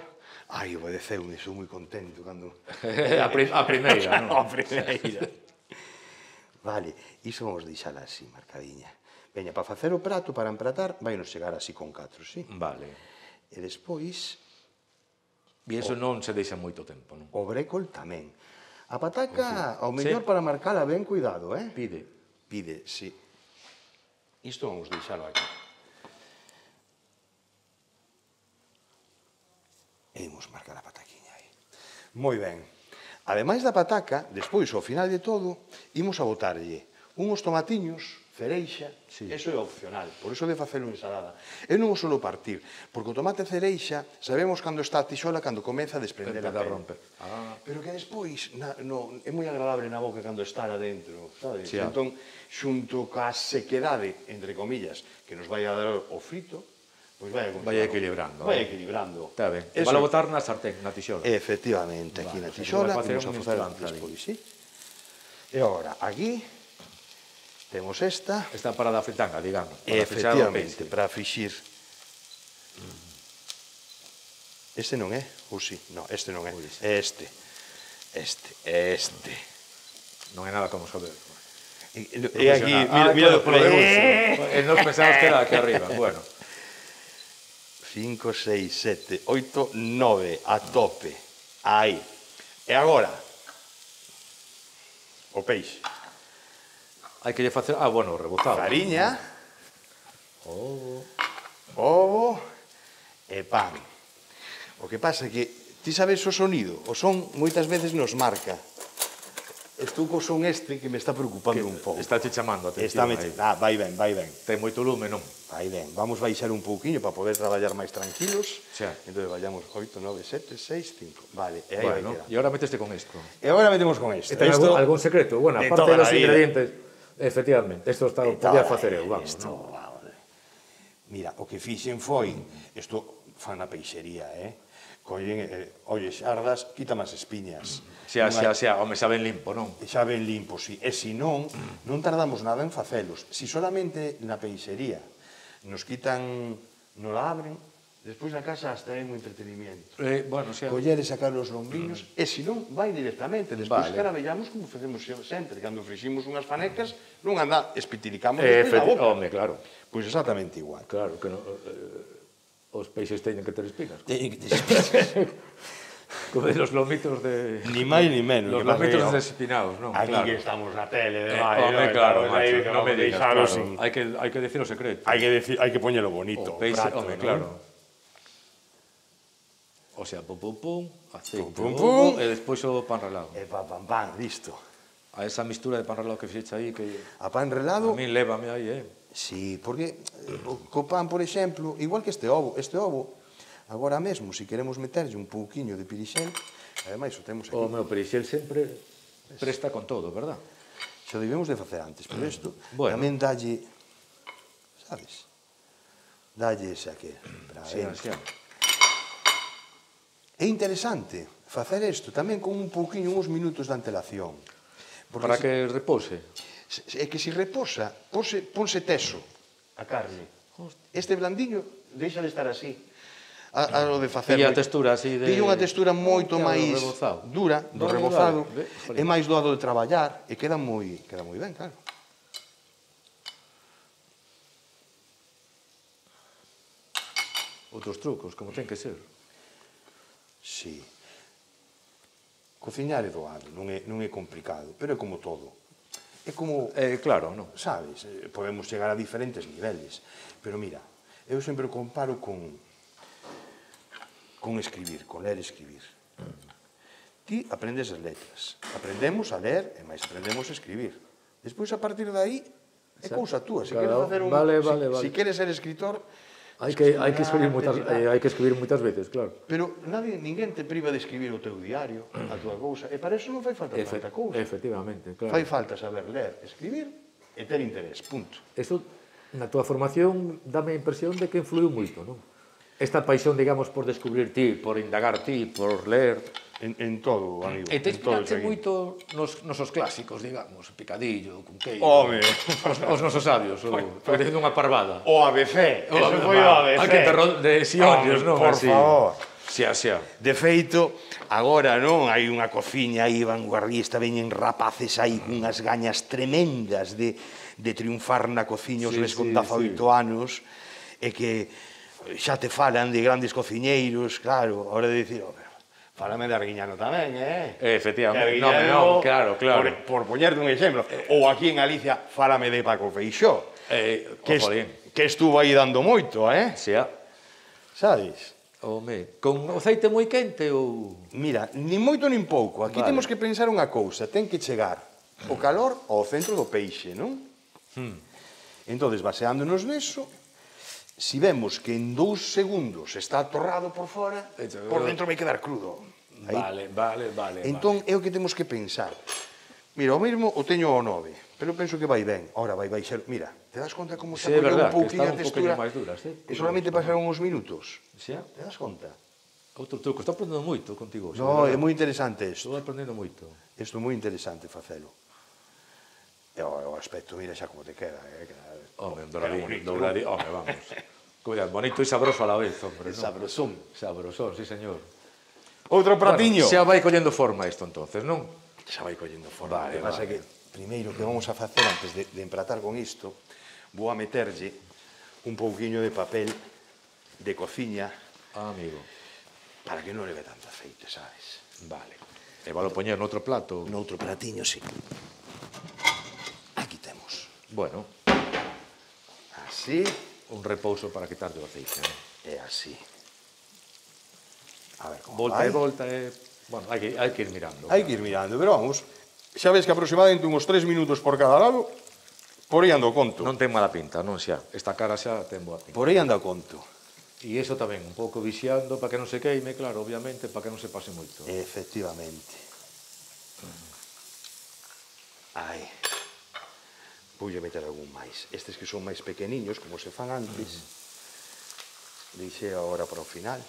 Ai, obedeceu-me, sou moi contento cando... A primeira, non? A primeira. Vale, iso vamos deixala así, marcadiña. Veña, para facer o prato, para empratar, vai nos chegar así con 4, sí? Vale. E despois... E iso non se deixa moito tempo, non? O brécol tamén. A pataca, ao mellor para marcala ben, cuidado, eh? Pide, sí. Isto vamos deixalo aquí. E imos marcar a pataquiña aí. Moi ben. Ademais da pataca, despois, ao final de todo, imos a botarlle unhos tomatiños, cereixa, eso é opcional, por iso de facelo ensalada. Eu non o solo partir, porque o tomate cereixa sabemos cando está a tixola, cando comeza a desprender a pele. Pero que despois é moi agradable na boca cando está adentro, sabes? Entón, xunto ca sequedade, entre comillas, que nos vai a dar o frito, pois vai equilibrando. Vai equilibrando. Está ben. Vai a botar na sartén, na tixola. Efectivamente, aquí na tixola, vamos a facer despois, sí? E agora, aquí temos esta. Esta para da fritanga, digamos. Efectivamente, para frixir. Este non é? Ou si? Non, este non é. É este. Este. Non é nada como saber. E aquí, mira por aí. E nos pensamos que era aquí arriba. Bueno. 5, 6, 7, 8, 9, a tope. Aí. E agora? O peixe. Hai que lle facer... bueno, rebozado. Fariña. Ovo. E pan. O que pasa é que ti sabes o sonido. O son moitas veces nos marca. Estou co son este que me está preocupando un pouco. Está te chamando a atención. Vai ben, vai ben. Ten moito lume, non? Vai ben. Vamos baixar un pouquiño para poder traballar máis tranquilos. Entón, vayamos 8, 9, 7, 6, 5. Vale, e aí vai quedar. E agora meteste con isto. E agora metemos con isto. Ten algún secreto? Bueno, aparte dos ingredientes... Efectivamente, isto podía facer eu, vamos. Mira, o que fixen foi, isto fan na peixería, collen, olle, xardas, quitan as espiñas. Home, xa ben limpo, non? Xa ben limpo, si. E se non, non tardamos nada en facelos. Si solamente na peixería nos quitan, non la abren, despois na casa hasta é un entretenimiento. Coller e sacar os lombriños, e se non, vai directamente. Despois caravellamos como facemos sempre. Cando friximos unhas fanecas, non anda, espitiricamos despois na boca. Home, claro. Pois exactamente igual. Claro, que os peixes teñen que ter espinas. Teñen que ter espinas. Como de los lomitos de... Ni máis ni menos. Los lomitos desespinados, non? Aquí que estamos na tele, home, claro, macho, non me digas, claro. Hai que decir o secreto. Hai que poñelo bonito. O peixe, home, claro. O sea, pum, aceite, e despois o pan relado. E pan, listo. A esa mistura de pan relado que fixeche aí, que... A pan relado... A min lévame aí, Sí, porque co pan, por exemplo, igual que este ovo, agora mesmo, se queremos meterlle un pouquiño de pirixel, ademais o temos aquí. O meu pirixel sempre presta con todo, verdad? Xa debemos de facer antes, pero isto tamén dalle, sabes? Dalle ese aquí, para dentro. É interesante facer isto tamén con un pouquiño, uns minutos de antelación. Para que repose. É que se reposa, ponse teso a carne. Este blandiño deixa de estar así. A lo de facer... Pilla a textura así de... Pilla unha textura moito máis dura, do rebozado, é máis doado de traballar, e queda moi ben, claro. Outros trucos, como ten que ser. Sí. Cociñar é doado, non é complicado, pero é como todo. É como... Claro, non? Sabes, podemos chegar a diferentes niveles. Pero mira, eu sempre o comparo con escribir, con ler e escribir. Ti aprendes as letras, aprendemos a ler e máis aprendemos a escribir. Despois, a partir de aí, é cousa túa. Se queres ser escritor... Hai que escribir moitas veces, claro. Pero ninguén te priva de escribir o teu diario, a túa cousa, e para iso non fai falta tanta cousa. Efectivamente, claro. Fai falta saber ler, escribir e ter interés, punto. Isto, na túa formación, dame a impresión de que influiu moito, non? Esta paixón, digamos, por descubrir ti, por indagar ti, por ler... En todo, amigo. E te inspiraste moito nos nosos clásicos, digamos, Picadillo, Cunqueiro... Home! Os nosos sabios, porque dicindo unha parvada. O ABC, eso foi o ABC. Hai que terror de xiollos, non? Por favor. Xa. De feito, agora, non, hai unha cociña aí vanguardista, veñen rapaces aí cunhas gañas tremendas de triunfar na cociña os ves con 18 anos, e que xa te falan de grandes cociñeiros, claro, a hora de dicir, fálame de Arguiñano tamén, Efectivamente, non, claro. Por poñerte un exemplo. Ou aquí en Galicia, fálame de Paco Feixó, que estuvo aí dando moito, Xa. Sabes? Home, con o aceite moi quente ou... Mira, nin moito nin pouco. Aquí temos que pensar unha cousa, ten que chegar o calor ao centro do peixe, non? Entón, baseándonos neso, si vemos que en 2 segundos está atorrado por fora, por dentro vai quedar crudo. Vale. Entón, é o que temos que pensar. Mira, o mesmo o teño ao 9, pero penso que vai ben. Ahora vai baixar. Mira, te das conta como se acolleu un pouquinho a textura? máis dura, sí. E solamente pasaron uns minutos. Xa? Te das conta? Outro truco. Estou aprendendo moito contigo. No, é moi interesante isto. Estou aprendendo moito. Isto é moi interesante facelo. E o aspecto, mira xa como te queda. Home, douradín. Home, vamos. Cuidado, bonito e sabroso a la vez, hombre. Sabrosón. Sabrosón, sí, señor. Outro pratiño. Xa vai collendo forma isto, entonces, non? Xa vai collendo forma. Vale. Pasa que, primeiro, que vamos a facer antes de empratar con isto, vou a meterlle un pouquiño de papel de cociña Amigo. para que non leve tanto aceite, sabes? Vale. E valo poñer noutro plato? Noutro platiño, sí. Aquí temos. Bueno, Así un repouso para quitarlle o aceite. e así. A ver como Volta vai. e volta e... Bueno, hai que ir mirando. Hai que ir mirando, pero vamos. Xa ves que aproximadamente uns 3 minutos por cada lado, por aí ando conto. Non ten mala pinta, non xa. Esta cara xa ten boa pinta. Por aí anda conto. E iso tamén, un pouco vixiando para que non se queime, claro, obviamente, para que non se pase moito. Efectivamente. Ai. Voulle meter algún máis. Estes que son máis pequeniños, como se fan antes, deixei agora para o final.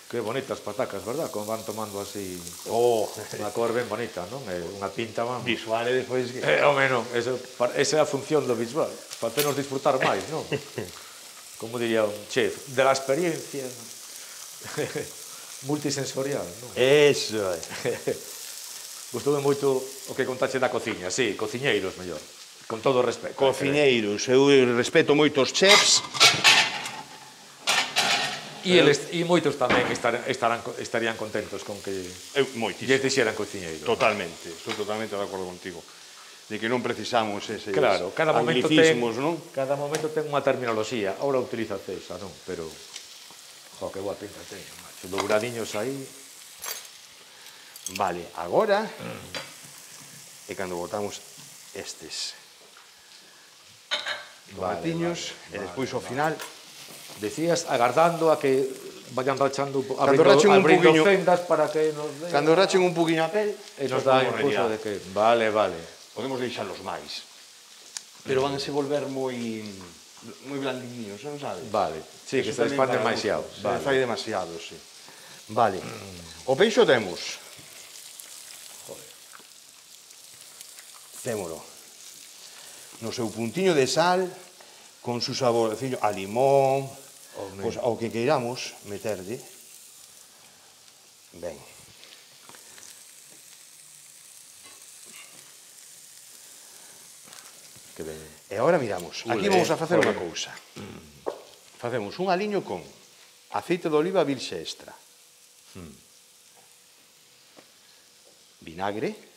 Que bonitas patacas, verdad? Como van tomando así... Oh, Unha cor ben bonita, non? É unha pinta, vamos. visual e despois que... Home, non. Esa é a función do visual. Facernos disfrutar máis, non? Como diría un chef, de la experiencia multisensorial, non? Eso é. Gustoume moito o que contaxe da cociña. Sí, cociñeiros, mellor. Con todo o respeto. Cociñeiros, eu respeto moitos chefs. E moitos tamén estarían contentos con que Moitísimo. lles dixeran cociñeiros. Totalmente, estou totalmente de acordo contigo. De que non precisamos eses Claro, cada momento non? Cada momento ten unha terminoloxía. Ahora utiliza esa, non? Pero, jo, que boa pinta ten. Macho. Douradiños aí. Vale, agora é cando botamos estes tomatiños e despois ao final Decías agardando a que vayan rachando, rachen un abrindo poquinho- fendas para que nos dé. cando rachen un poquinho a pel E nos dá impulso de que... Vale. podemos deixarlos máis, pero vanse volver moi blandiños, non sabes? Vale. Sí, que Eso se tamén expande para demasiado. gusto. Se fai demasiado, sí. Vale. O peixo temos. Témolo. No seu puntiño de sal, con su saborcillo a limón, pues, ao que queiramos meterlle. Ben. Que ben. E agora miramos. Aquí vamos a facer unha cousa. Facemos un aliño con aceite de oliva virxe extra. Vinagre.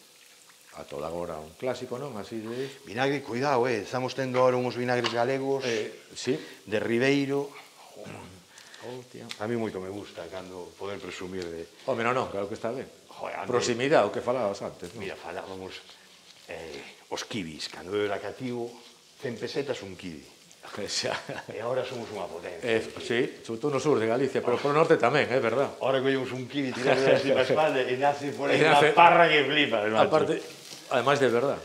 A toda agora un clásico, non? Así de... Vinagre, cuidado, estamos tendo ahora uns vinagres galegos Sí. de Ribeiro. Hostia. A mí moito me gusta cando poder presumir de... Home, non, claro que está ben. Joder, André. Proximidade, o que falabas antes, non? Mira, falábamos os kibis. Cando eu era cativo, 100 pesetas un kibi. Xa. E agora somos unha potencia. Sí, sobre todo no sur de Galicia, pero por o norte tamén, é verdad. Ahora collemos un kibi, tiramos así para a espalda e nace por aí E unha nace- parra que flipa, macho. Aparte, además de verdad.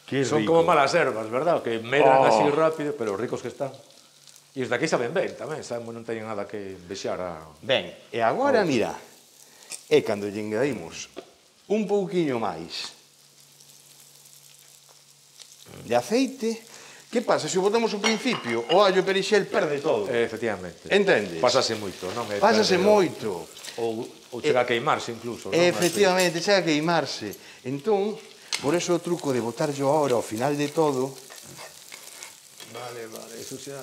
Qué Son rico. como malas herbas, verdad? Que medran así rápido, pero ricos que están. E os de aquí saben ben tamén, saben, non teñen nada que vexar a... Ben, e agora, mira, é cando lle engadimos un pouquiño máis de aceite. Que pasa? Se o botamos ao principio, o allo perixel perde todo. Efectivamente. Entendes? Pásase moito, non? Pásase moito. Ou chega a queimarse incluso, non? Efectivamente, chega a queimarse. Entón, por eso o truco de botarlo ahora ao final de todo. Vale, eso xa...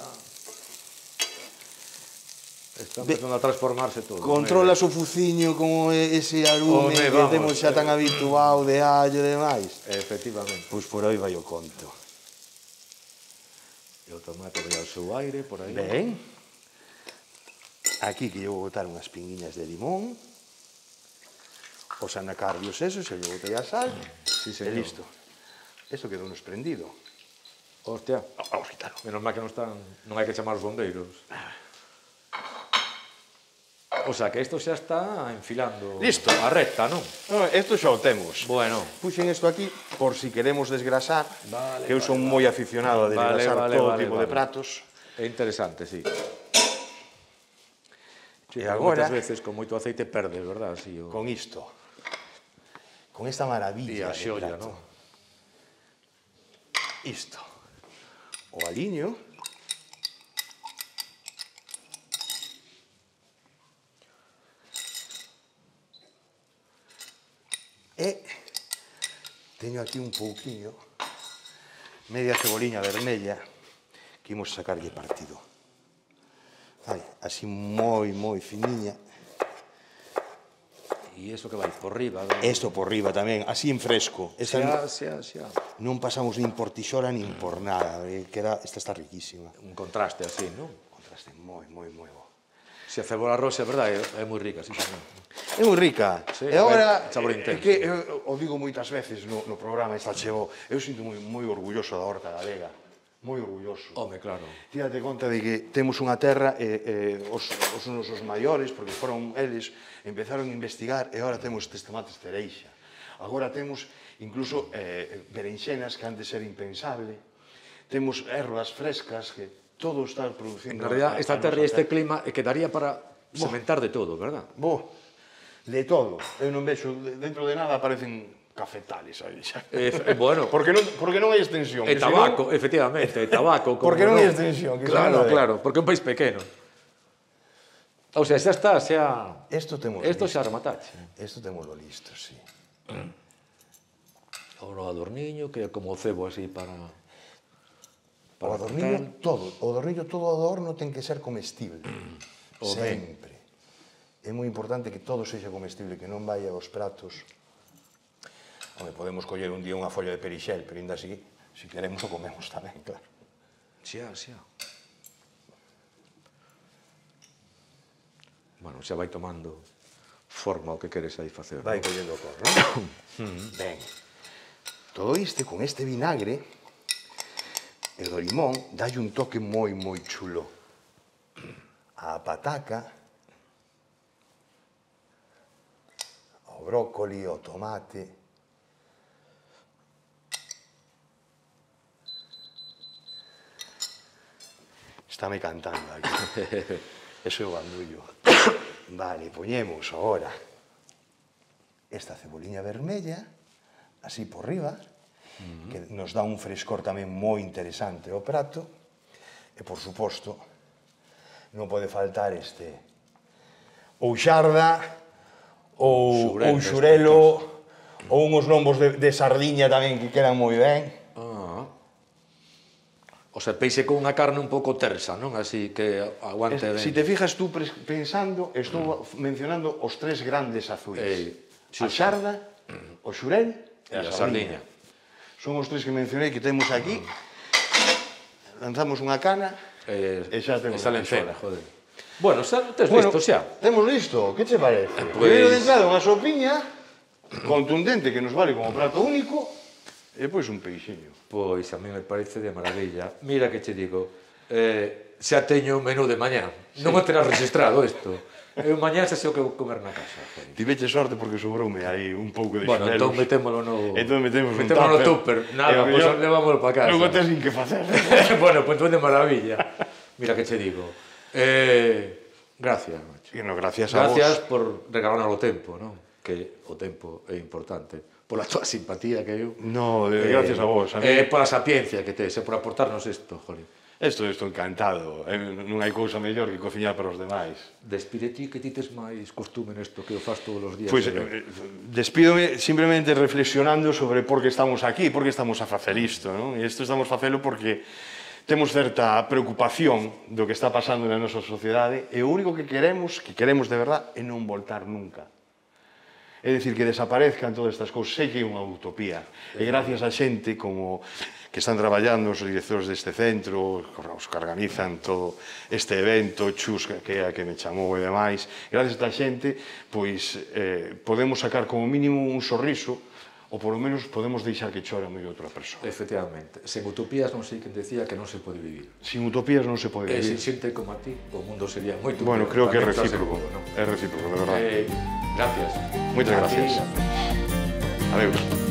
Está empezando a transformarse todo. Controlas o fuciño como ese alume Home, que vamos, temos xa tan habituado de allo e demais. Efectivamente. Pois por aí vai o conto. E o tomate vai ao seu aire, por aí. Ben. Aquí que eu vou botar unhas pinguiñas de limón. os anacardios esos, e lle botei a sal, Sí, e señor. listo. Esto quedou nos prendido. Hostia, Vamos a quitarlo. menos mal que non hai que chamar os bombeiros. O sea, que isto xa está enfilando Listo. a recta, non? Isto xa o temos. Bueno. Puxen isto aquí por si queremos desgrasar, Vale, que eu son moi aficionado a desgrasar todo tipo de pratos. É interesante, sí. E agora, moitas veces con moito aceite perdes, verdad? Sí, con isto, con esta maravilla a de xolla, prato. non? Isto. O aliño. E teño aquí un pouquiño, media ceboliña vermella, que imos sacarlle partido. Vale, así moi finiña. E iso que vai por riba. Isto por riba tamén, así en fresco. Esta Xa. non pasamos nin por tixora nin por nada. Esta está riquísima. Un contraste así, non? Contraste moi bo. Se a cebola roxa, é verdade, é moi rica, sí, señor. É moi rica. Sí, E agora, sabor é intenso. que o digo moitas veces no programa, esta chego, eu sinto moi orgulloso da horta galega. Moi orgulloso. Home, claro. Tírate conta de que temos unha terra e os nosos maiores, porque foron eles, empezaron a investigar e agora temos estes tomates cereixa. Agora temos incluso berenxenas que antes era impensable. Temos ervas frescas que todo está producindo. En realidad, esta terra e este clima quedaría para sementar de todo, verdad? De todo. Eu non vexo, dentro de nada aparecen cafetales aí xa. Bueno, Porque non hai extensión. e tabaco, efectivamente, e tabaco. Porque non hai extensión. Claro, porque é un país pequeno. O sea, xa está, xa... Isto xa remataxe. Isto temoslo listo, sí. O adorniño, que é como o cebo así para... O adorniño todo, o adorno ten que ser comestible. Sempre. É moi importante que todo sexa comestible, que non vaya aos pratos. Home, podemos coller un día unha folla de perixel, pero ainda así, se queremos o comemos tamén, claro. Xa. Bueno, xa vai tomando forma o que queres aí facer. Vai collendo cor, non? Ben. Todo isto, con este vinagre, e do limón, dalle un toque moi chulo. A pataca, o brócoli, o tomate. Estáme cantando aquí. Eso é o bandullo. Vale, poñemos agora esta ceboliña vermella, así por riba, que nos dá un frescor tamén moi interesante ao prato. E, por suposto, non pode faltar este ou xarda, ou xurelo, ou uns lombos de sardiña tamén que quedan moi ben. O sea, peixe con unha carne un pouco tersa, non? Así que aguante ben. Si te fijas tú pensando, estou mencionando os tres grandes azuis. A xarda, o xurel e a sardiña. Son os tres que mencionei que temos aquí. Lanzamos unha cana e xa temos a lencena, joder. Bueno, xa tes listo xa. Temos listo, que che parece? Primeiro de entrada unha sopiña contundente que nos vale como prato único e depois un peixiño. Pois a mí me parece de maravilla. Mira que che digo, xa teño o menú de mañá. Non o terás registrado isto. Eu mañá xa sei o que vou comer na casa. Tiveche sorte porque sobroume aí un pouco de xumelos. Bueno, entón metémolo no... Entón metemos no tupper. Nada, pois levámoslo para casa. Non o tes nin que facer. Bueno, pois de maravilla. Mira que che digo. Gracias, macho. Gracias a vos. Gracias por regalarnos o tempo, non? Que o tempo é importante. Pola tua simpatía que eu... No, gracias a vos. Pola sapiencia que tes, por aportarnos isto, jolín. Estou encantado. Non hai cousa mellor que cociñar para os demais. Despide ti que ti tes máis costume nesto que o faz todos os días. Pois despídome simplemente reflexionando sobre por que estamos aquí, por que estamos a facer isto, non? E isto estamos a facelo porque temos certa preocupación do que está pasando na nosa sociedade e o único que queremos de verdad é non voltar nunca. É dicir, que desaparezcan todas estas cousas. Sei que é unha utopía. E gracias a xente como que están traballando, os directores deste centro, os que organizan todo este evento, Chus, que é a que me chamou e demais, gracias a esta xente, pois podemos sacar como mínimo un sorriso, ou polo menos podemos deixar que chore a medio outra persoa. Efectivamente. Sen utopías non sei quen decía que non se pode vivir. Sin utopías non se pode E vivir. sin xente como a ti, o mundo sería moito Bueno, peor. creo que é Tamén te recíproco. aseguro, non? É recíproco, de verdade. Gracias. Moitas gracias. Adeus.